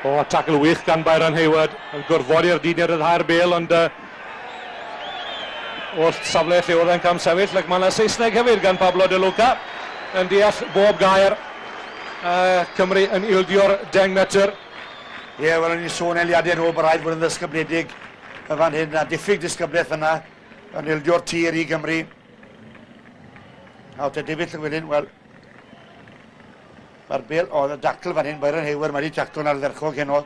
O, tackle wych gan Byron Hayward yn gorfodi'r dyn i ryddhau'r bêl, ond uh, o'r safle lle oedd e'n camsefyll, ac mae yna Saesneg hefyd gan Pablo De Luca yn deall bob gair. Uh, Cymru yn ildio'r deng metr. Ie, yeah, wel, o'n i'n sôn eiliadau yn ôl bod rhaid bod yn ddisgybledig y fan hyn, a diffyg disgyblaeth yna yn ildio'r tir i Gymru. A te David Llewellyn, wel, mae'r bêl, o, y dacl fan hyn, Byron Hayward, mae wedi taclo'n ardderchog heno.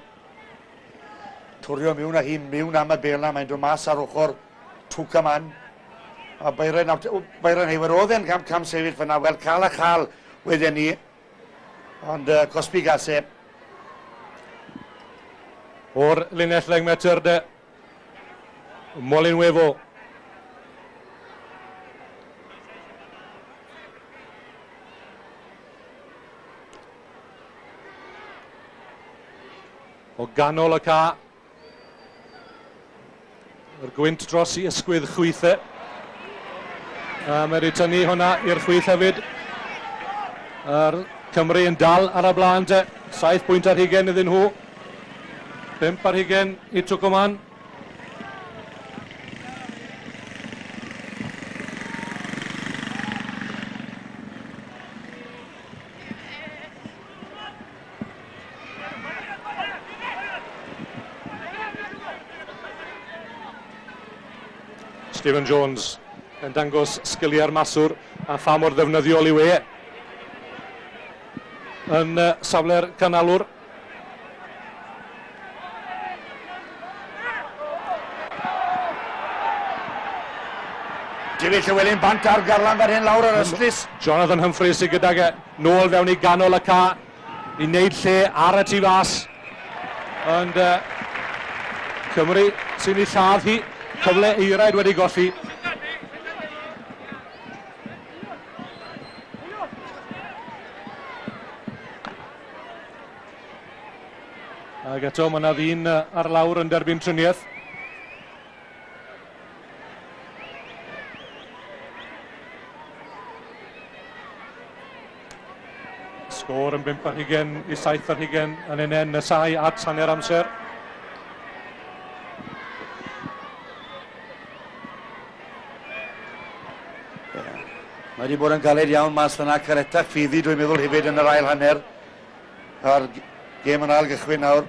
Twrio miwn a hi miwn am y bêl na, mae'n dod mas ar ochr Twcaman. A Byron, Byron Hayward oedd e'n cam, cam sefyll fyna, wel, cael a chael wedyn ni. Ond uh, cosbi gase. O'r linell ddeng metr de, Molinuevo. O ganol y ca. Yr gwynt dros i ysgwydd chwithau. A mae wedi tynnu hwnna i'r chwith hefyd. Yr Cymru yn dal ar y blaen te. Saith pwynt ar hugain iddyn nhw. Pump ar hugain i Twcwman. Stephen Jones yn dangos sgiliau'r maswr a pha mor ddefnyddiol yw e yn uh, safle'r canalwr. David Llewellyn bant ar garlam fan hyn lawr ar ystlys. Jonathan Humphreys sydd gydag e nôl fewn i ganol y ca i wneud lle ar y tu fas. Ond uh, Cymru sy'n ei lladd hi. Cyfle eiraid wedi golli. Ac eto mae yna ddyn ar lawr yn derbyn triniaeth. Sgôr yn bump ar hugain i saith ar hugain yn un nesau at hanner amser. Mae wedi bod yn galed iawn mas fyna, caretach ffiddi dwi'n meddwl hefyd yn yr ail hanner. A'r gêm yn ail gychwyn nawr.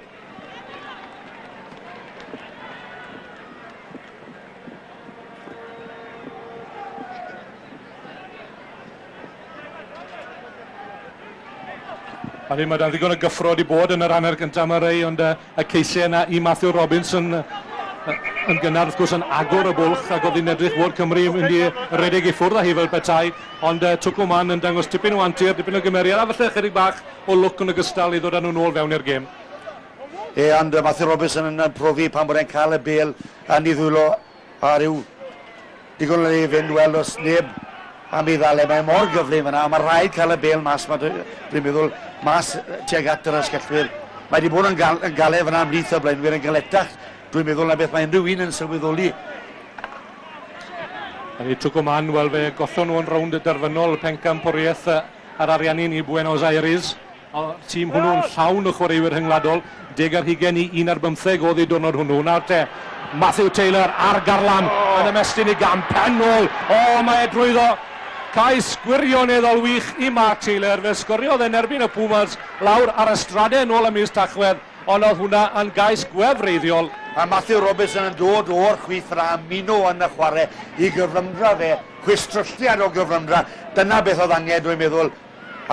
A ddim mae dan ddigon o gyffro wedi bod yn yr hanner gyntaf yma rei, ond uh, y ceisiau yna i Matthew Robinson uh, yn gynnar wrth gwrs yn agor y bwlch, ac oedd hi'n edrych fod Cymru yn mynd i redeg i ffwrdd â hi fel petai, ond uh, Tucumán yn dangos tipyn o antur, tipyn o gymeriad, a falle ychydig bach o lwc yn ogystal i ddod â nhw nôl fewn i'r gêm. E, ond uh, Matthew Robinson yn profi pan bod e'n cael y bêl yn ei ddwylo a rhyw digon o le i fynd, wel, os neb am ei ddal e, mae mor gyflym yna, a mae rhaid cael y bêl mas, dwi'n meddwl, mas tuag at yr asgellwyr. Mae wedi bod yn, gal, yn galed fyna ymhlith y blaenwyr yn galetach, dwi'n meddwl na beth mae unrhyw un yn sylweddoli. A Tucumán, wel fe gollon nhw yn rownd y derfynol pencampwriaeth ar Ariannin i Buenos Aires. O'r tîm hwnnw'n llawn o chwaraewyr rhyngwladol, deg ar hugain i un ar bymtheg oedd ei diwrnod hwnnw. Nawr te, Matthew Taylor ar garlam yn ymestyn i gam pen ôl. O, mae e drwyddo. Cais gwirioneddol wych i Mark Taylor. Fe sgoriodd yn erbyn y Pumas lawr ar y stradau yn ôl ym mis Tachwedd, ond oedd hwnna yn gais gwefreiddiol. A Matthew Robinson yn dod o'r chwith yna, ymuno yn y chwarae i gyflymdra fe, chwistrelliad o gyflymdra. Dyna beth oedd angen, dwi'n meddwl.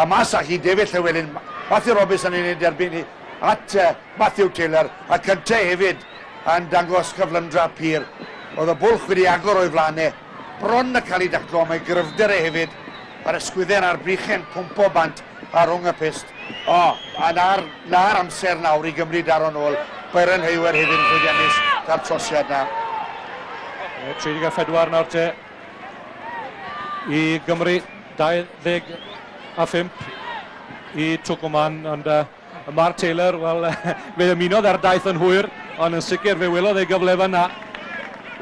A mas â hi David Llewellyn, Matthew Robinson yn ei derbyn hi at uh, Matthew Taylor, a cyntaf hefyd yn dangos cyflymdra pur. Oedd y bwlch wedi agor o'i flaenau, bron y cael ei daclo, mae gryfder e hefyd, a'r ysgwydden a'r brychau'n pwmpo bant a rhwng y pyst. O, a na'r, na'r amser nawr i Gymru daro nôl. Byron Hayward hefyd yn llwyddiannus da'r trosiad na. tri deg pedwar nawr te i Gymru, dau ddeg a phump i Tucumán, ond uh, Mark Taylor, wel, fe ymunodd ar daith yn hwyr, ond yn sicr fe welodd ei gyfle fan'na.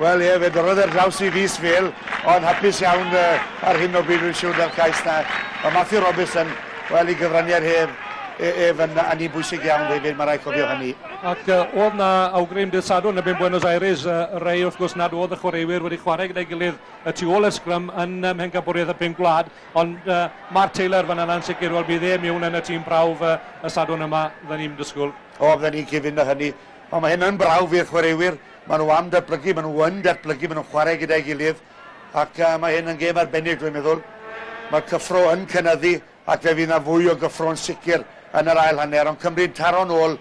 Wel ie, fe dorrodd ar draws i fys fel, ond hapus iawn uh, ar hyn o bryd rwy'n siŵr da'r cais na. Mae Matthew Robinson, wel, i gyfraniad hef, ef yn, yn un bwysig iawn hefyd, mae rhaid cofio hynny. Ac uh, oedd na awgrym dydd Sadwrn yn Buenos Aires, uh, rei wrth gwrs nad oedd y chwaraewyr wedi chwarae gyda'i gilydd y tu ôl y sgrym yn um, Mhencampwriaeth y Pum Gwlad, ond uh, Mark Taylor fan yna'n sicr, wel bydd e mewn yn y tîm prawf uh, y Sadwrn yma, fydden ni'n disgwyl. O, fydden ni'n cyfuno hynny. Ond mae hyn yn brawf i'r chwaraewyr, maen nhw am datblygu, maen nhw yn datblygu, maen nhw'n chwarae gyda'i gilydd, ac uh, mae hyn yn gêm arbennig, dwi'n meddwl. Mae'r cyffro yn cynyddu, ac fe fydd yna fwy o gyffro'n sicr yn yr ail hanner, ond Cymru'n taro'n ôl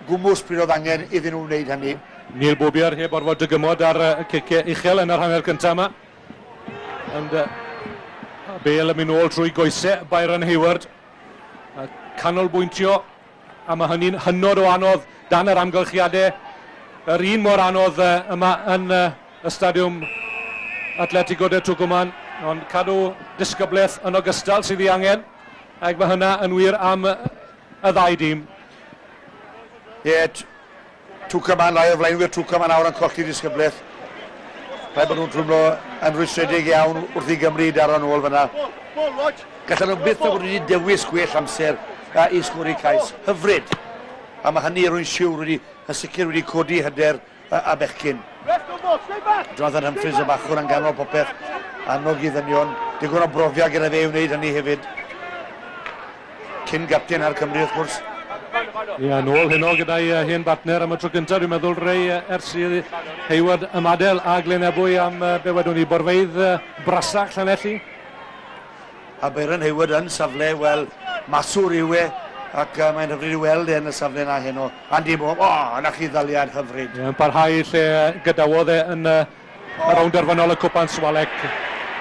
gwmws pryd oedd angen iddyn nhw wneud hynny. Neil Bobier heb orfod dygymod ar y ciciau uchel yn yr hanner cyntaf yma. Ond uh, Bale yn mynd ôl trwy goesau Byron Hayward. Uh, canolbwyntio, a mae hynny'n hynod o anodd dan yr amgylchiadau. Yr un mor anodd uh, yma yn uh, y stadiwm Atletico de Tucumán, ond cadw disgyblaeth yn ogystal sydd ei angen, ac mae hynna yn wir am y ddau dîm. Ie, yeah, Tucumán, lai o flaenwyr Tucumán nawr yn colli disgyblaeth. Rhaid bod nhw'n twmlo yn rwystredig iawn wrth i Gymru daro nôl fyna. Gallan nhw byth o fod wedi dewis gwell amser i sgori cais. Hyfryd. A mae hynny rwy'n siŵr wedi, yn sicr wedi codi hyder a bechgyn. Jonathan Humphreys y bachwr yn ganol popeth, annog i ddynion, digon o brofiad gyda fe i wneud hynny hefyd. Cyn gapten ar Cymru wrth gwrs. Ie, nôl heno gyda'i hen bartner am y tro gyntaf, dwi'n meddwl, Rei, ers i Hayward ymadael a Glyn Ebwy am be wedwn ni, borfeydd brasach Llanelli. A Byron Hayward yn safle, wel, maswr yw e, ac uh, mae'n hyfryd i weld e yn y safle yna heno. Andy Moore, o, oh, na chi ddaliad hyfryd. Yn parhau lle gadawodd e yn uh, y rownd derfynol y Cwpan Swalec.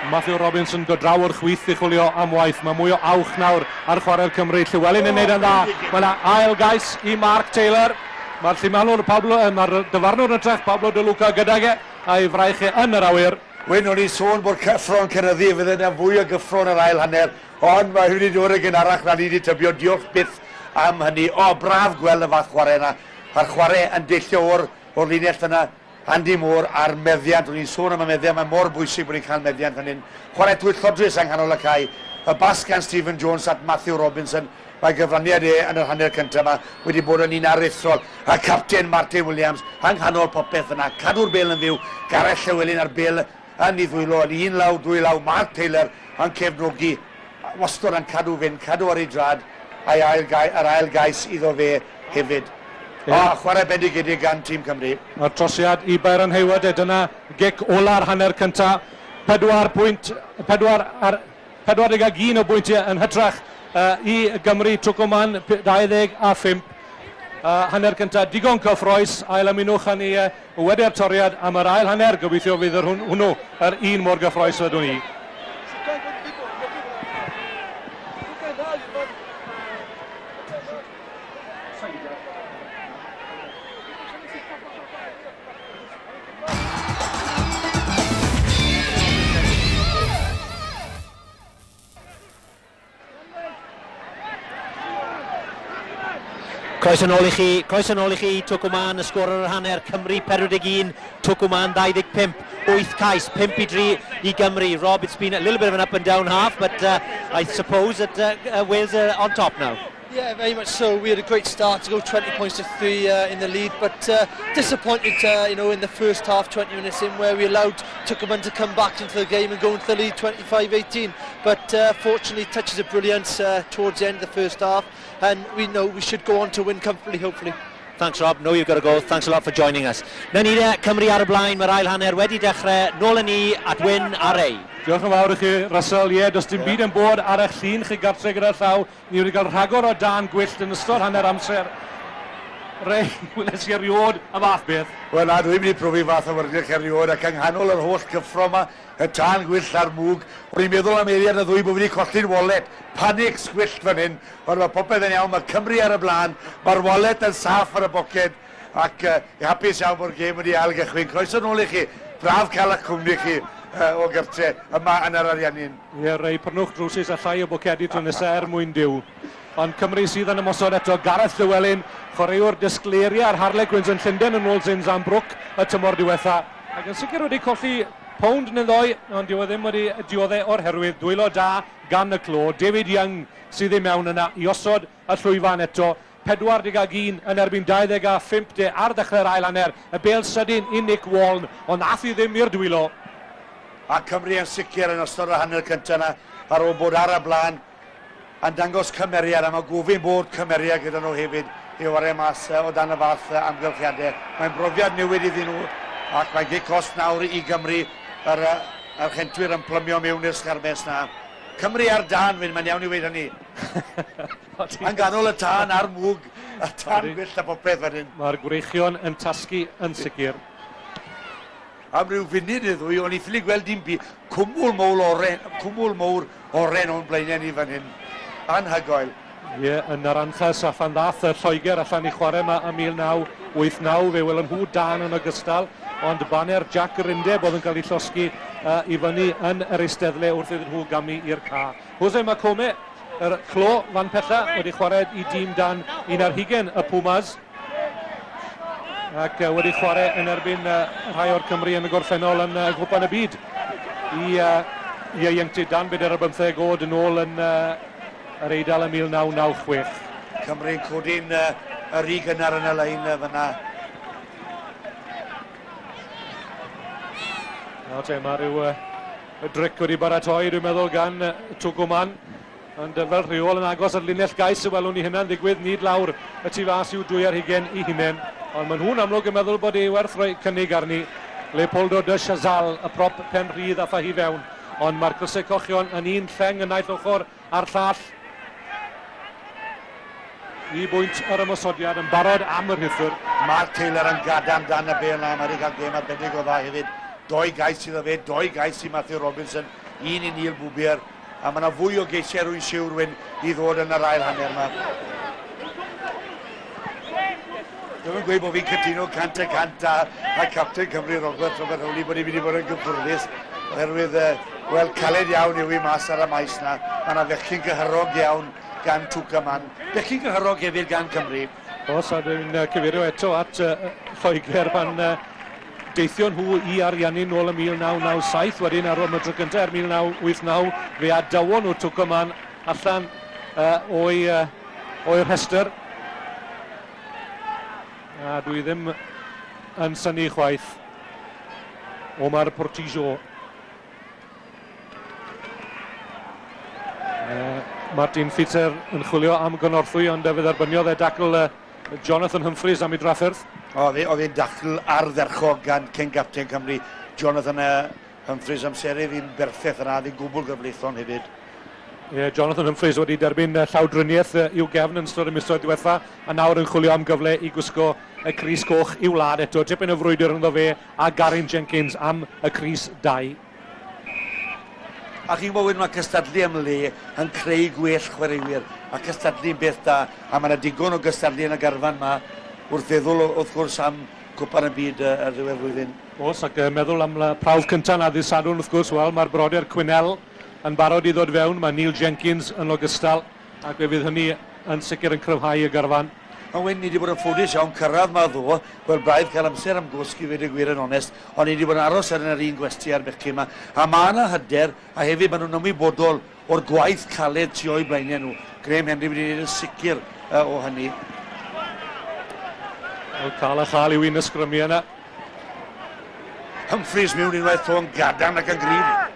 Matthew Robinson dod draw o'r chwith i chwilio am waith. Mae mwy o awch nawr ar chwarae'r Cymru. Llewellyn yn neud yn dda. Mae yna ail gais i Mark Taylor. Mae'r llumanwr Pablo, mae'r dyfarnwr yn trech Pablo De Luca gydag e, a'i fraich e yn yr awyr. Wyn, o'n i sôn bod cyffro'n cynyddu, fydde yna fwy o gyffro yn yr ail hanner, ond mae wedi dod yn gynharach na ni wedi tybio, diolch byth am hynny. O, braf gweld y fath chwarae yna. A'r chwarae yn deillio o'r, o'r linell yna, Andy Moore a'r meddiant. O'n i'n sôn am y meddiant, mae mor bwysig bod ni'n cael meddiant fan hyn. Chwarae twyllodrus yng nghanol y cae. Y bas gan Stephen Jones at Matthew Robinson. Mae gyfraniad e yn yr hanner cyntaf yma wedi bod yn un aruthrol. A capten Martin Williams yng nghanol popeth yna. Cadw'r bêl yn fyw. Gareth Llewellyn a'r bêl yn ei ddwylo, yn un law, dwy law. Mark Taylor yn cefnogi. Wastad yn cadw fynd, cadw ar ei drad, a'i ail gai, yr ail gais iddo fe hefyd. O, oh, chwarae bendigedig gan tîm Cymru. Mae'r trosiad i Byron Hayward, e, dyna gic ola'r hanner cyntaf. Pedwar pwynt, pedwar ar, pedwar deg ag un o bwyntiau yn hytrach uh, i Gymru, Twcwman dau ddeg a phump. Uh, hanner cyntaf digon cyffrous, ail ymunwch â ni uh, wedi'r toriad am yr ail hanner. Gobeithio fydd yr hwnnw yr un mor gyffrous ydw ni. Croeso nôl i chi, croeso nôl i chi, Twcwman, y sgôr ar yr hanner, Cymru pedwar deg un, Twcwman dau ddeg pump, wyth cais, pump i dri i Gymru. Rob, it's been a little bit of an up and down half, but uh, I suppose that uh, Wales are on top now. Yeah, very much so. We had a great start to go twenty points to three uh, in the lead, but uh, disappointed, uh, you know, in the first half, twenty minutes in, where we allowed Twcwman to come back into the game and go into the lead twenty-five eighteen. But uh, fortunately, touches of brilliance uh, towards the end of the first half, and we know we should go on to win comfortably, hopefully. Thanks, Rob. Know you've got to go. Thanks a lot for joining us. Na ni de, Cymru ar y blaen, mae'r ail hanner wedi dechrau. Nôl â ni at Wyn a Ray. Diolch yn fawr i chi, Russell. Ie, does dim byd yn bod ar eich llun chi gartre gyda'r llaw. Ni wedi cael rhagor o dan gwyllt yn ystod hanner amser. Ray, weles i erioed y fath beth. Wel na, dwi'n mynd i profi fath o wyrgylch erioed, ac yng nghanol yr holl gyffro yma, y tân gwyllt a'r mwg, o'n i'n meddwl am eiliad y ddwy bod fi wedi colli'n wallet. Panic sgwyllt fan hyn, ond mae popeth yn iawn, mae Cymru ar y blaen, mae'r wallet yn saff ar y boced, ac uh, hapus iawn bod gêm wedi ail gychwyn. Croeso nôl i chi, braf cael eich cwmni chi uh, o gartre yma yn yr Ariannin. Ie, Ray, prynwch drwsus a llai o bocedi tro nesaf er mwyn Duw. Ond Cymru sydd yn ymosod eto, Gareth Llewellyn, chwaraewr disgleiria ar Harlequins yn Llundain yn ôl Zinzan Brook y tymor diwetha. Ac yn sicr wedi colli pownd neu ddoi, ond dyw e ddim wedi dioddef o'r herwydd. Dwylo da gan y clo. David Young sydd i mewn yna i osod y llwyfan eto. pedwar deg ag un yn erbyn dau ddeg a phump de ar ddechrau'r ail hanner. Y bêl sydyn i Nick Waln, ond nath i ddim i'r dwylo. A Cymru yn sicr yn ystod yr hanner cyntaf yna, ar ôl bod ar y blaen, yn dangos cymeriad, a mae gofyn bod cymeriad gyda nhw hefyd i wario mas o dan y fath amgylchiadau. Mae'n brofiad newid iddyn nhw, ac mae'n gic cost nawr i Gymru, yr, yr chentwyr yn plymio mewn i'r sgarmes na. Cymru ar dan, mae'n iawn i weud hynny. Yn ganol y tân a'r mwg, y tân gwyllt a popeth fan hyn. Mae'r gwreichion yn tasgu yn sicr. Am ryw funud neu ddwy, o'n i ffili gweld dim byd. Cwmwl mowr oren, cwmwl mowr oren o'n blaenau ni fan hyn. Anhygoel. Ie, yn Naranjas a phan ddath y Lloegr allan i chwarae yma ym mil naw wyth naw, fe welon nhw dan yn ogystal, ond baner Jack yr Undeb oedd yn cael ei llosgi uh, i fyny yn yr eisteddle wrth iddyn nhw gamu i'r ca. Jose Macome, yr clo fan pella, wedi chwarae i dîm dan un ar hugain y Pumas, ac uh, wedi chwarae yn erbyn uh, rhai o'r Cymru yn y gorffennol yn uh, Gwpan y Byd i uh, ieuenctid dan bedair ar bymtheg oed yn ôl yn uh, yr Eidal ym mil naw naw chwech. Cymru'n codi'n uh, yr i gynnar yn y lein uh, fyna. Nawr te, mae rhyw uh, dric wedi baratoi, dwi'n meddwl, gan uh, Twcwman. Ond uh, fel rheol yn agos ar linell gais y welwn ni hynna'n ddigwydd, nid lawr y tu fas i'w dwy ar hugain i hunain. Ond maen nhw'n amlwg yn meddwl bod ei werth rhoi cynnig arni. Leopoldo de Chazal, y prop pen rhydd a ffa hi fewn. Ond mae'r crysau cochion yn un lleng yn naill ochr a'r llall. I bwynt yr ymosodiad yn barod am yr rhuthr. Mark Taylor yn gadarn dan y bêl na, mae wedi cael gêm arbennig o dda hefyd. Doi gais iddo fe, doi gais i Matthew Robinson, un i Neil Bwbier. A mae yna fwy o geisiau rwy'n siwr Wyn i ddod yn yr ail hanner yma. Dwi'n gweud bod fi'n cytuno cant y cant a, a captain Cymru Robert Robert Rowley bod ni'n mynd i fod yn gyffyrddus oherwydd, wel, caled iawn yw i mas ar y maes na. Mae yna fechgyn gyhyrog iawn gan Twcwman. Bechgyn gyhyrog hefyd gan Cymru. Os, a dwi'n cyfeirio eto at uh, Lloegr pan uh, deithio nhw i Ariannin nôl ym mil naw naw saith, wedyn ar ôl y tro cyntaf er mil naw wyth naw, fe adawon nhw Twcwman allan uh, o'i, uh, o'i rhestr. A dwi ddim yn synnu chwaith. Omar Portillo. Uh, Martin Fitzer yn chwilio am gynorthwy, ond fe dderbyniodd e dacl uh, Jonathan Humphreys am ei drafferth. Oedd e'n dacl ardderchog gan cyn gapten Cymru, Jonathan uh, Humphreys, amserydd i'n berffaith yna, oedd e'n gwbl gyfleithlon hefyd. Yeah, Jonathan Humphreys wedi derbyn llawdriniaeth i'w gefn yn ystod y misoedd diwetha, a nawr yn chwilio am gyfle i gwisgo y crys coch i'w wlad eto. Tipyn o frwydr ynddo fe a Garin Jenkins am y crys dau. A chi'n gwybod wedyn mae cystadlu am le yn creu gwell chwaraewyr, a cystadlu'n beth da, a mae yna digon o gystadlu yn y garfan yma wrth feddwl wrth gwrs am Cwpan y Byd ar ddiwedd flwyddyn. Oes, ac meddwl am prawf cyntaf na ddydd Sadwrn wrth gwrs, wel mae'r brodyr Quinnell yn barod i ddod fewn, mae Neil Jenkins yn ogystal, ac fe fydd hynny yn sicr yn cryfhau y garfan. Ond wedyn ni wedi bod yn ffodus iawn cyrraedd ma ddo, wel braidd cael amser am gwsg i ddweud y gwir yn onest, ond ni wedi bod yn aros ar yr un gwesty a'r bechgyn yma, a mae yna hyder, a hefyd maen nhw'n ymwybodol o'r gwaith caled tu o'i blaenau nhw. Graham Henry wedi gwneud yn sicr uh, o hynny. Wel, cael a chael yw un ysgrymu yna. Humphreys mewn unwaith to yn gadarn ac yn gryf.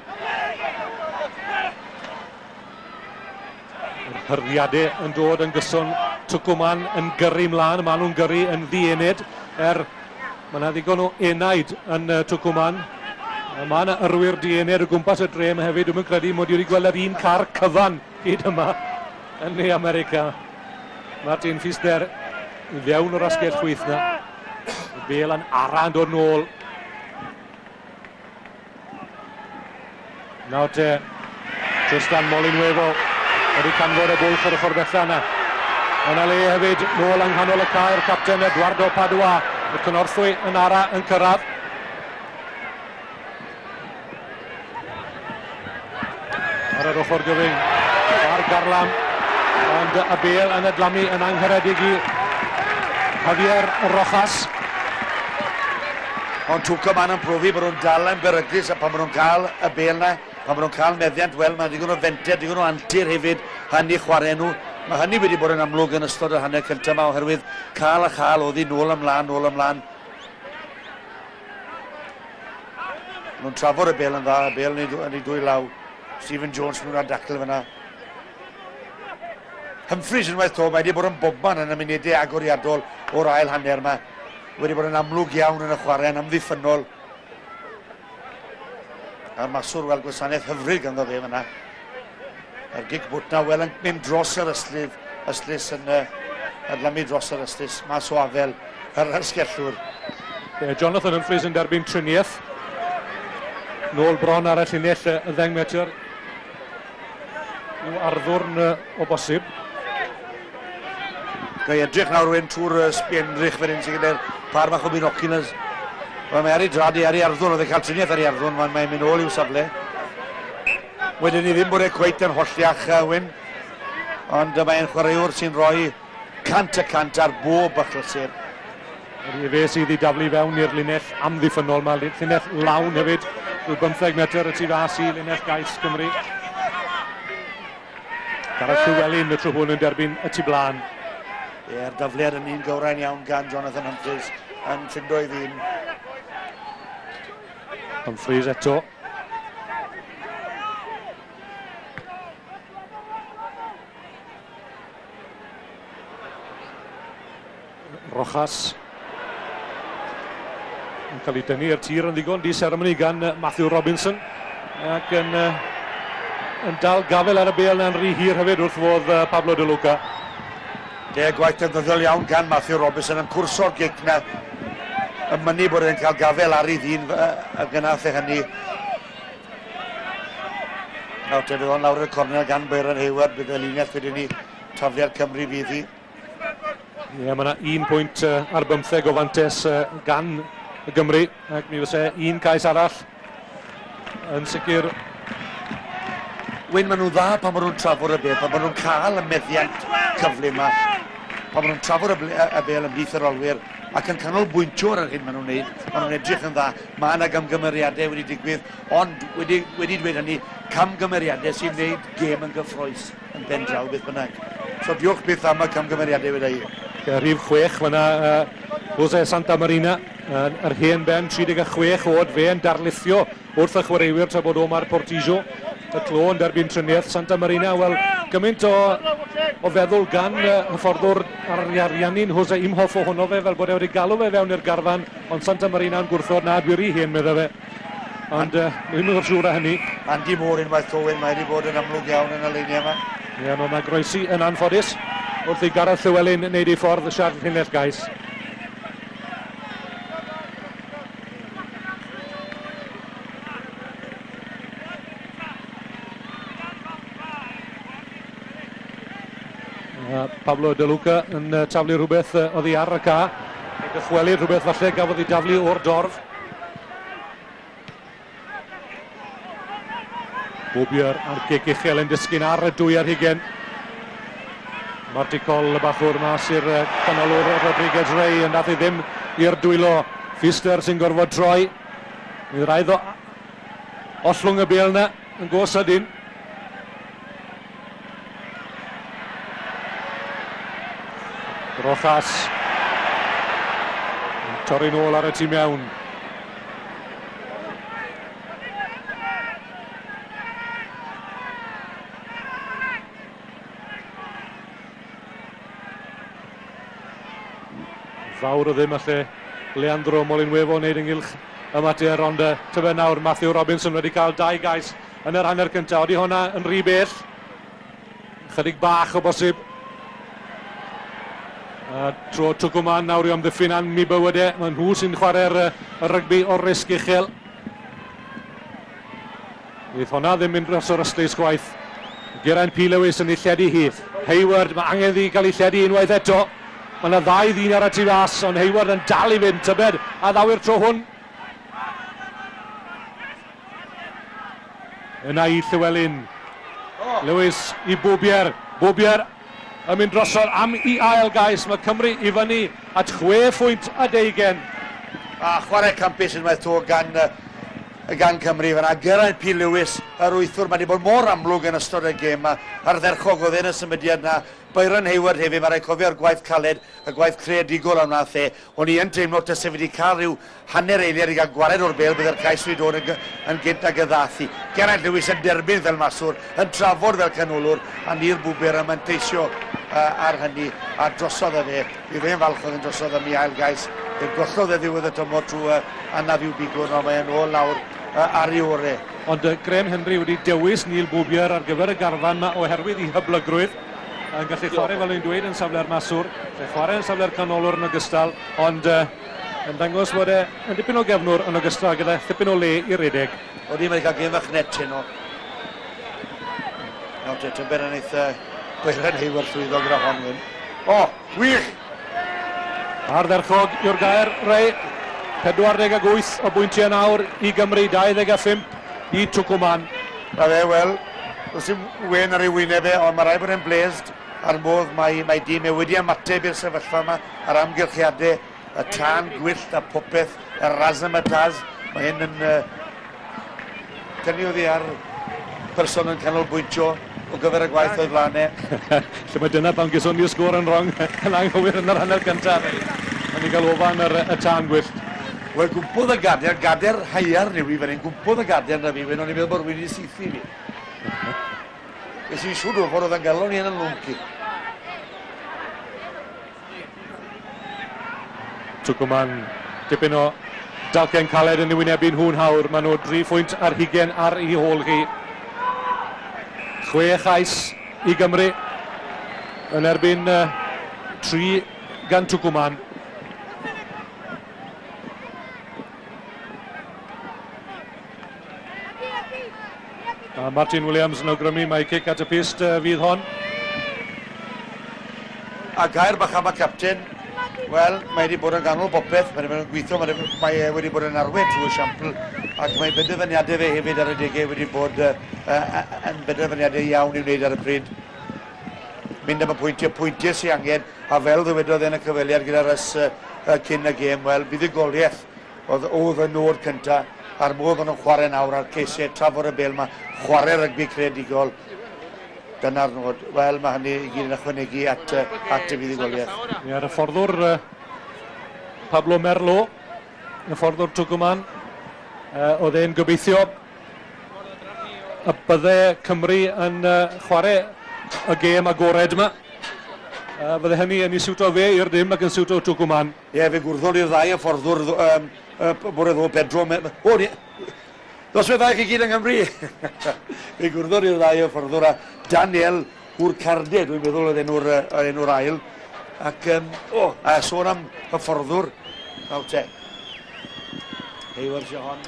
Hyrddiadau yn dod yn gyson, Twcwman yn gyrru mlaen, maen nhw'n gyrru yn ddiened, er mae yna ddigon o enaid yn uh, Twcwman. Mae yna yrwyr diened o gwmpas y dre yma hefyd, dwi'n credu mod i wedi gweld yr un car cyfan hyd yma yn Ne America. Martin Pfister i fewn o'r asgell chwith na. Y bel yn ara yn dod nôl. Nawr te, Tristan Molinuevo wedi canfod y bwlch ar y ffordd bella yna. Yna le hefyd, nôl yng nghanol y cae'r capten Eduardo Padua. Y cynorthwy yn ara yn cyrraedd. Ar yr ochr gyfyng, ar garlam, ond y bel yn adlamu yn angharedig i Javier Rojas. Ond Tucumán yn profi bod nhw'n dal yn beryglus, a pan maen nhw'n cael y bel na, pan maen nhw'n cael meddiant, wel, mae'n digon o fenter, digon o antur hefyd, hynny chwarae nhw. Mae hynny wedi bod yn amlwg yn ystod yr hanner cyntaf yma, oherwydd cael a chael oedd hi nôl ymlaen, nôl ymlaen. Nhw'n trafod y bel yn dda, y bel yn ei dwy law. Stephen Jones mewn ar dacl fyna. Humphreys unwaith to, mae wedi bod yn bobman yn y munudau agoriadol o'r ail hanner yma. Wedi bod yn amlwg iawn yn y chwarae, yn amddiffynnol. A'r maswr, wel, gwasanaeth hyfryd ganddo fe fyna. A'r gic bwt na, wel, yn mynd dros yr yslydd, ystlys yn uh, adlamu dros yr ystlys, mas o afel, yr ysgellwr. Yeah, Jonathan Humphreys yn derbyn triniaeth. Nôl bron ar y llinell y ddeng metr. Yw arddwrn o bosib. Gai edrych nawr rwy'n trwy'r sbienrych fan hyn sy'n gyda'r par bach o binoculars. Wel, mae ar ei drad i ar ei arddwrn, oedd e'n cael triniaeth ar ei arddwrn, mae'n mynd nôl i'w safle. Wedyn ni ddim bod e cweit yn holliach, uh, Wyn, ond uh, mae'n chwaraewr sy'n rhoi cant y cant ar bob achlysur. Yr fe sydd i daflu fewn i'r linell amddiffynnol, mae linell lawn hefyd, rhyw bymtheg metr y tu fas i linell gais Cymru. Gareth Llywelyn y tro hwn yn derbyn y tu blaen. Ie'r dafliad yn un gywrain iawn gan Jonathan Humphreys yn ffindo ei ddyn. Humphreys eto. Rojas yn cael ei dynnu i'r tir yn ddigon di seremoni gan Matthew Robinson, ac yn, yn dal gafel ar y bêl na'n rhy hir hefyd wrth fodd Pablo De Luca. De, gwaith defnyddiol iawn gan Matthew Robinson yn cwrso'r gic na, yn mynnu bod e'n cael gafel ar ei ddyn a gynath e hynny. Nawr te, fydd o'n lawr i'r cornel gan Byron Hayward, bydd y linell wedyn ni tafliad Cymru fydd hi. Ie, yeah, mae yna un pwynt uh, ar bymtheg o fantes uh, gan y Gymru, ac mi fysa un cais arall yn sicr. Wyn, maen nhw'n dda pan maen nhw'n trafod y bel, pan maen nhw'n cael y meddiant cyflym yma, pan maen nhw'n trafod y, y bel ymhlith yr olwyr ac yn canolbwyntio ar yr hyn maen nhw'n wneud, maen nhw'n edrych yn dda. Mae yna gamgymeriadau wedi digwydd, ond wedi, wedi dweud hynny, camgymeriadau sy'n wneud gêm yn gyffrous yn ben draw beth bynnag. So diolch byth am y camgymeriadau wedi i. Rhif chwech fyna uh, Jose Santamarina, uh, yr hen ben, tri deg chwech oed, fe yn darlithio wrth y chwaraewyr tra bod Omar Portillo, y clo yn derbyn triniaeth. Santamarina, wel, gymaint o, o feddwl gan uh, hyfforddwr Ariannin Jose Imhoff ohono fe, fel bod e wedi galw fe fewn i'r garfan, ond Santamarina yn gwrthod, na, dwi rhy hen, medde fe. Ond uh, ddim yn siŵr â hynny. Andy Moore unwaith to, mae wedi bod yn amlwg iawn yn y leiniau yma. Ie, yeah, mae groesi yn anffodus. Wrth i Gareth Llewellyn wneud ei ffordd siarad llinell gais. Uh, Pablo De Luca yn uh, taflu rhywbeth uh, oddi ar y ca. Dychwelu rhywbeth falle gafodd ei daflu o'r dorf. Boobier a'r gic uchel yn disgyn ar y dwy ar hugen. Marty Coll y bachwr mas i'r canolwr Rodriguez Rey yn nath i ddim i'r dwylo. Pfister sy'n gorfod troi. Bydd rhaid o ollwng y bêl yna yn go sydyn. Rojas yn torri nôl ar y tîm iawn. Fawr o ddim alle Leandro Molinuevo wneud ynghylch y mater, ond tyfe nawr Matthew Robinson wedi cael dau gais yn yr hanner cyntaf. Odi hwnna yn rhy bell? Chydig bach o bosib. A tro Tucumán nawr i amddiffyn am eu bywydau. Mae nhw sy'n chwarae'r rygbi o'r risg uchel. Fydd hwnna ddim mynd dros o'r ystlys gwaith. Geraint P. Lewis yn ei lledu hi. Hayward, mae angen iddi gael ei lledu unwaith eto. Mae yna ddau ddyn ar y tu fas, ond Hayward yn dal i fynd, tybed, a ddaw i'r tro hwn. Yna i Llewellyn. Oh. Lewis i Boobier. Boobier yn mynd drosodd am i ail gais. Mae Cymru i fyny at chwe phwynt a deugen. A chwarae campus unwaith to gan, gan Cymru fan'na. Geraint P. Lewis, yr wythwr, mae wedi bod mor amlwg yn ystod y gêm. Ardderchog oedd e'n y symudiad yna. Byron Hayward hefyd, mae rhaid cofio'r gwaith caled, y gwaith creadigol am wnaeth e. O'n i yn teimlo tase wedi cael rhyw hanner eiliad i gael gwared o'r bêl, bydde'r cais wedi dod yn, yn gynt ag y ddath i. Geraint Lewis yn derbyn fel maswr, yn trafod fel canolwr, a Neil Boobier yn manteisio uh, ar hynny, a drosodd e fe. Fi fe'n falch oedd yn drosodd am ei ail gais. Fe gollodd e ddiwedd y tymor trwy uh, anaf i'w bigwrn, ond mae'n ôl lawr uh, ar ei orau. Ond uh, Graham Henry wedi dewis Neil Boobier ar gyfer y garfan yma oherwydd ei hyblygrwydd. Yn gallu chwarae, fel o'n dweud, yn safle'r maswr, lle chwarae yn safle'r canolwr yn ogystal, ond uh, yn dangos bod e yn dipyn o gefnwr yn ogystal gyda thipyn o le i redeg. Odi, mae wedi cael gêm fach net heno. Nawr te, tybed yn eitha Byron Hayward llwyddo gyda hon wyn. O, wych! Ardderchog yw'r gair, Ray. pedwar deg wyth o bwyntiau nawr i Gymru, dau ddeg a phump i Tucumán. Na fe, wel, does dim wen ar ei wyneb e, ond mae rhaid bod e'n blesd a'r modd mae, mae dîm e wedi ymateb i'r sefyllfa yma, a'r amgylchiadau, y tân gwyllt a popeth, y razzmatazz. Mae hyn yn uh, tynnu oddi ar person yn canolbwyntio o gyfer y gwaith o'i flaen e. Lle mae dyna pan geson ni'r sgôr yn wrong, yn anghywir yn yr hanner cyntaf. Mae'n i gael ofan yr, y tân gwyllt. Wel, gwmpodd y gader, gader haearn yw i fan hyn, gwmpodd y gader na fi, o'n i'n meddwl bod rhywun wedi saethu fi. Es i'n siŵr o fod oedd yn galon i yn y lwnci. Tucumán, dipyn o dalcen caled yn ei wynebu nhw'n hawr. Maen nhw dri phwynt ar hugen ar ei hôl hi. Chwe chais i Gymru yn erbyn uh, tri gan Tucumán. A Martin Williams yn awgrymu mai cic at y pyst uh, fydd hon. A gair bach am y capten, wel, mae wedi bod yn ganol bopeth, mae wedi bod yn gweithio, mae, mae wedi bod yn arwain trwy esiampl, ac mae benderfyniadau fe hefyd ar y degau wedi bod uh, uh, yn benderfyniadau iawn i'w wneud ar y pryd. Mynd am y pwyntiau, pwyntiau sy'n angen, a fel ddywedodd yn y cyfweliad gyda Russ uh, uh, cyn y gêm, wel, buddugoliaeth oedd, oedd y nod cyntaf, a'r modd o'n nhw'n chwarae nawr a'r ceisiau trafod y bêl yma, chwarae rygbi creadigol, dyna'r nod. Wel, mae hynny i gyd yn ychwanegu at, at y fuddugoliaeth. Ie, ar y fforddwr Pablo Merlo, y fforddwr Tucumán, uh, oedd e'n gobeithio y bydde Cymru yn uh, chwarae y gêm agored yma. Uh, fydde hynny yn ei siwto fe i'r dim ac yn siwto Tucumán. Ie, fe gwrddol i'r ddau y fforddwr um, uh, bore ddo, Pedro. O, ni, Noswaith dda i chi gyd yng Nghymru. Fe gwrddon ni'r ddau hyfforddwr a Daniel Hwrcarde, dwi'n meddwl oedd enw'r, enw'r ail. Ac, um, o, oh, a sôn am hyfforddwr. Nawr te. Hayward hon.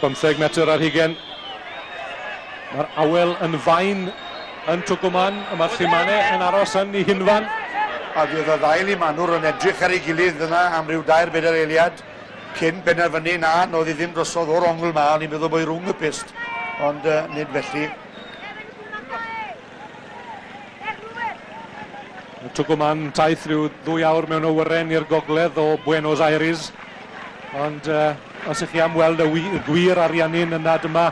Bymtheg metr ar hugen. Mae'r awel yn fain yn Tucumán, a mae'r Llimane yn aros yn ei hunfan. A fydd y ddau Limanwr yn edrych ar ei gilydd yna am ryw dair bedair eiliad cyn penderfynu na, nodd i ddim drosodd o'r ongl ma, o'n i'n meddwl bod i rhwng y pyst, ond uh, nid felly. Tucumán taith rhyw ddwy awr mewn awyren i'r gogledd o Buenos Aires, ond uh, os ych chi am weld y, y gwir Ariannin yna, dyma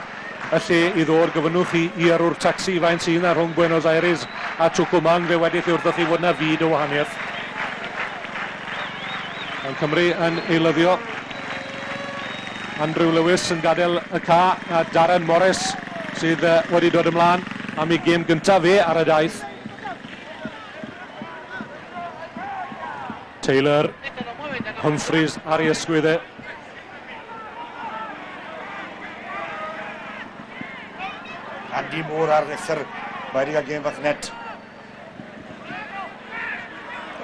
y lle i ddod. Gofynnwch chi i yrrwr taxi faint sydd yna rhwng Buenos Aires a Tucumán, fe wedith i wrthoch chi fod yna fyd o wahaniaeth. Ond Cymru yn eilyddio. Andrew Lewis yn gadael y ca, a Darren Morris sydd wedi dod ymlaen am ei gêm gyntaf fe ar y daith. Taylor, Humphreys ar ei ysgwydd e. Andy Moore ar rithr, mae wedi cael gêm fach net.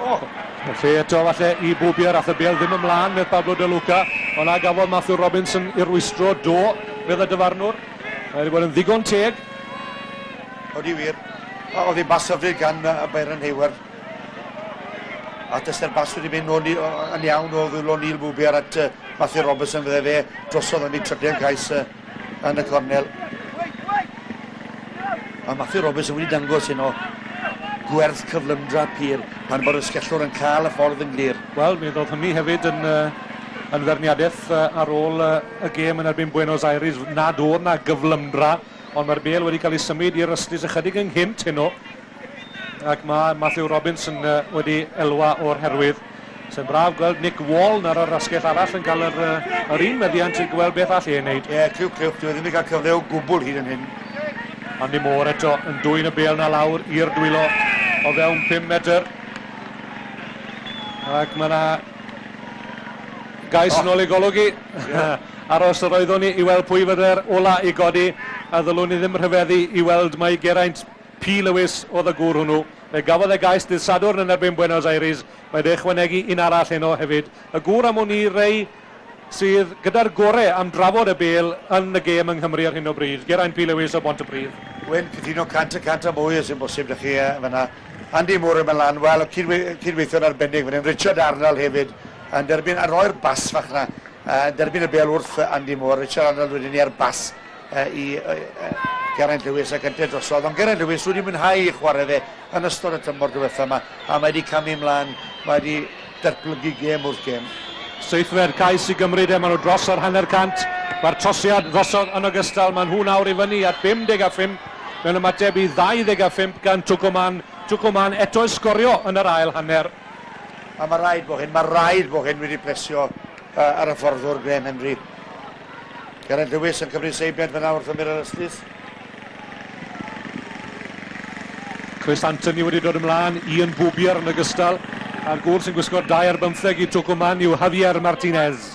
Oh. Lle eto falle i Boobier, ath y bêl ddim ymlaen med Pablo De Luca, ond a gafodd Matthew Robinson i rwystro do, medd y dyfarnwr. Mae wedi bod yn ddigon teg. Odi wir. Oedd hi'n bas hyfryd gan Byron Hayward. A dysty'r bas wedi mynd o'n, yn iawn o ddwylo Neil Boobier at uh, Matthew Robinson, fydde fe drosodd am ei trydydd cais uh, yn y cornel. A Matthew Robinson wedi dangos heno gwerth cyflymdra pur pan bod y sgellwr yn cael y ffordd yn glir. Wel, mi ddodd hynny hefyd yn, uh, yn ferniadaeth uh, ar ôl uh, y gêm yn erbyn Buenos Aires, nad oedd na gyflymdra, ond mae'r bêl wedi cael ei symud i'r ystlys ychydig ynghynt heno, ac mae Matthew Robinson uh, wedi elwa o'r herwydd. Sy'n braf gweld Nick Wall ar yr asgell arall yn cael yr, uh, yr un meddiant i gweld beth all ei wneud. Ie, yeah, clyw, clyw, dwi ddim wedi cael cyfle o gwbl hyd yn hyn. Andy Moore eto yn dwyn y bêl na lawr i'r dwylo o fewn pum metr. Ac mae yna gais oh. yn ôl i golwg i. Yeah. Aros yr oeddwn ni i weld pwy fydde'r ola i godi, a ddylwn ni ddim rhyfeddu i weld mai Geraint P. Lewis oedd y gŵr hwnnw. Fe gafodd e gais dydd Sadwrn yn erbyn Buenos Aires. Mae wedi ychwanegu un arall heno hefyd. Y gŵr am wn i rei sydd gyda'r gore am drafod y bêl yn y gêm yng Nghymru ar hyn o bryd. Geraint P. Lewis o Bontypridd. Wen, cytuno cant y cant a mwy os yw'n bosib ydych chi fyna. Andy Moore yn mynd lan, wel, cydweithio'n arbennig fan hyn. Richard Arnold hefyd yn derbyn, a roi'r bas fach na, yn derbyn y bêl wrth Andy Moore. Richard Arnold wedyn ni ar bas uh, i uh, Geraint Lewis ac yntau drosodd. Ond Geraint Lewis wedi mwynhau i chwarae fe yn ystod y tymor diwetha yma, a mae wedi camu ymlaen, mae wedi datblygu gêm wrth gêm. Seithfed cais i Gymru de, maen nhw dros ar hanner cant. Mae'r trosiad drosodd yn ogystal, maen nhw nawr i fyny at bum deg a phump mewn ymateb i ddau ddeg a phump gan Tucumán. Tucumán eto i sgorio yn yr ail hanner. A mae rhaid bod hyn, mae rhaid bod hyn wedi plesio uh, ar y fforddwr Graham Henry. Geraint Lewis yn cymryd seibiant fyna wrth ymyr yr ystlys. Chris Anthony wedi dod ymlaen, Ian Boobier yn ogystal. A'r gŵr sy'n gwisgo'r dau ar bymtheg i Tucumán yw Javier Martinez.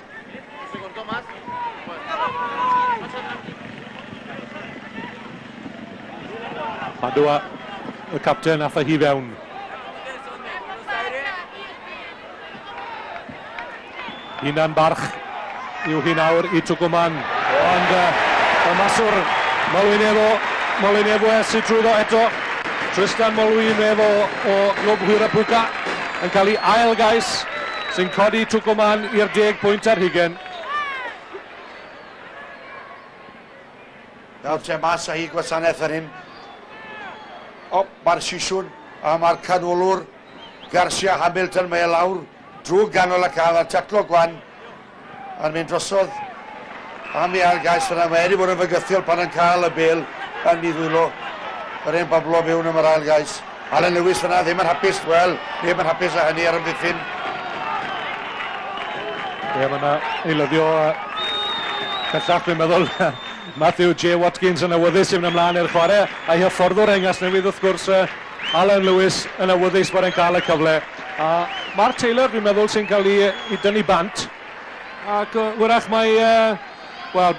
Padua, y capten, ath â hi fewn. Hunan barch yw hi nawr i Tucumán. Ond uh, y maswr Molinevo, Molinevo sy'n trwyddo eto. Tristan Molinevo o Glwb Huirapuca yn cael ei ail gais sy'n codi Tucumán i'r deg pwynt ar hugen. Nawr te mas a hi gwasanaeth fan hyn. O, mae'r sisiwn a mae'r canolwr Garcia Hamilton, mae e lawr drwy ganol y cael a taclo gwan a'n mynd drosodd am ei ail gais fyna. Mae wedi bod yn fygythiol pan yn cael y bêl yn ei ddwylo. Yr un Pablo mewn am yr ail gais. Alan Lewis fyna ddim yn hapus, wel, ddim yn hapus â hynny ar ymddiffyn. Ie, mae yna eilyddio bellach, dwi'n meddwl, Matthew J. Watkins yn awyddus i fynd ymlaen i'r chwarae, a'i hyfforddwr Engas Newydd wrth gwrs, Alan Lewis yn awyddus bod e'n cael y cyfle. A Mark Taylor, dwi'n meddwl, sy'n cael ei, ei dynnu bant, ac wyrach mae uh, Wel,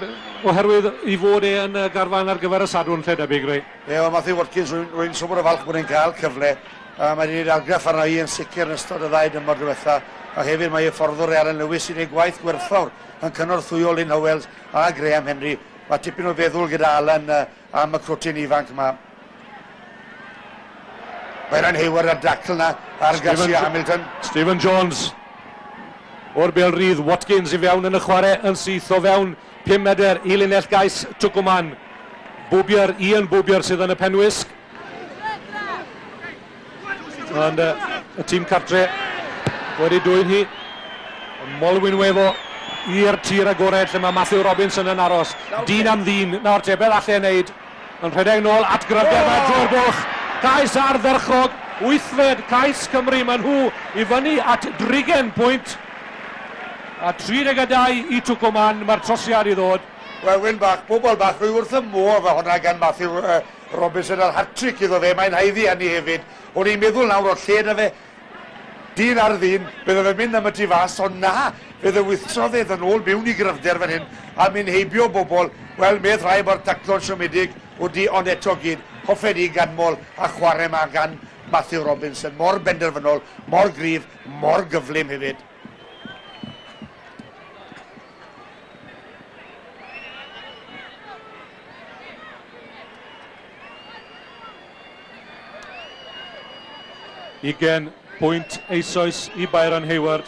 oherwydd i fod e yn y garfan ar gyfer y Sadwrn lle debyg, rei. Ie, well, Matthew Watkins, rwy'n swmor o falch bod e'n cael cyfle. Uh, mae wedi gwneud argraff arna i yn sicr yn ystod y ddau dymor diwetha. A hefyd mae hyfforddwr Alan Lewis sy'n gwneud gwaith gwerthfawr yn cynorthwyo Lynn Howells a Graham Henry. Mae tipyn o feddwl gyda Alan uh, am y crwtyn ifanc yma. Byron Hayward ar dacl na ar Garcia Hamilton. Stephen Jones o'r bêl rydd, Watkins i fewn yn y chwarae yn syth o fewn pum medr i linell gais Twcwman. Bwbier, Ian Bwbier sydd yn y penwisg. Ond uh, y tîm cartre wedi dwyn hi. Molinuevo i'r tir agored lle mae Matthew Robinson yn aros. Dyn am ddyn, nawr te, beth alle ei wneud? Yn rhedeg nôl at gryfder, oh! Drwy'r bwlch. Cais ardderchog, wythfed cais Cymru, maen nhw i fyny at drigen pwynt. A tri deg a dau i Twcwman, mae'r trosiad i ddod. Wel, Wyn bach, bobl bach, rwy wrth y modd fe hwnna gan Matthew uh, Robinson a'r hat-trick iddo fe, mae'n haeddu hynny hefyd. O'n i'n meddwl nawr o lle na fe, dyn ar ddyn, bydde fe'n mynd am y tu fas, ond na, fe ddewistrodd e yn ôl mewn i gryfder fan hyn, a mynd heibio bobl. Wel, medd rhai o'r taclo'n siomedig, wedi ond eto gyd, hoffen i ganmol a chwarae yma gan Matthew Robinson. Mor benderfynol, mor gryf, mor gyflym hefyd. Ugain pwynt eisoes i Byron Hayward.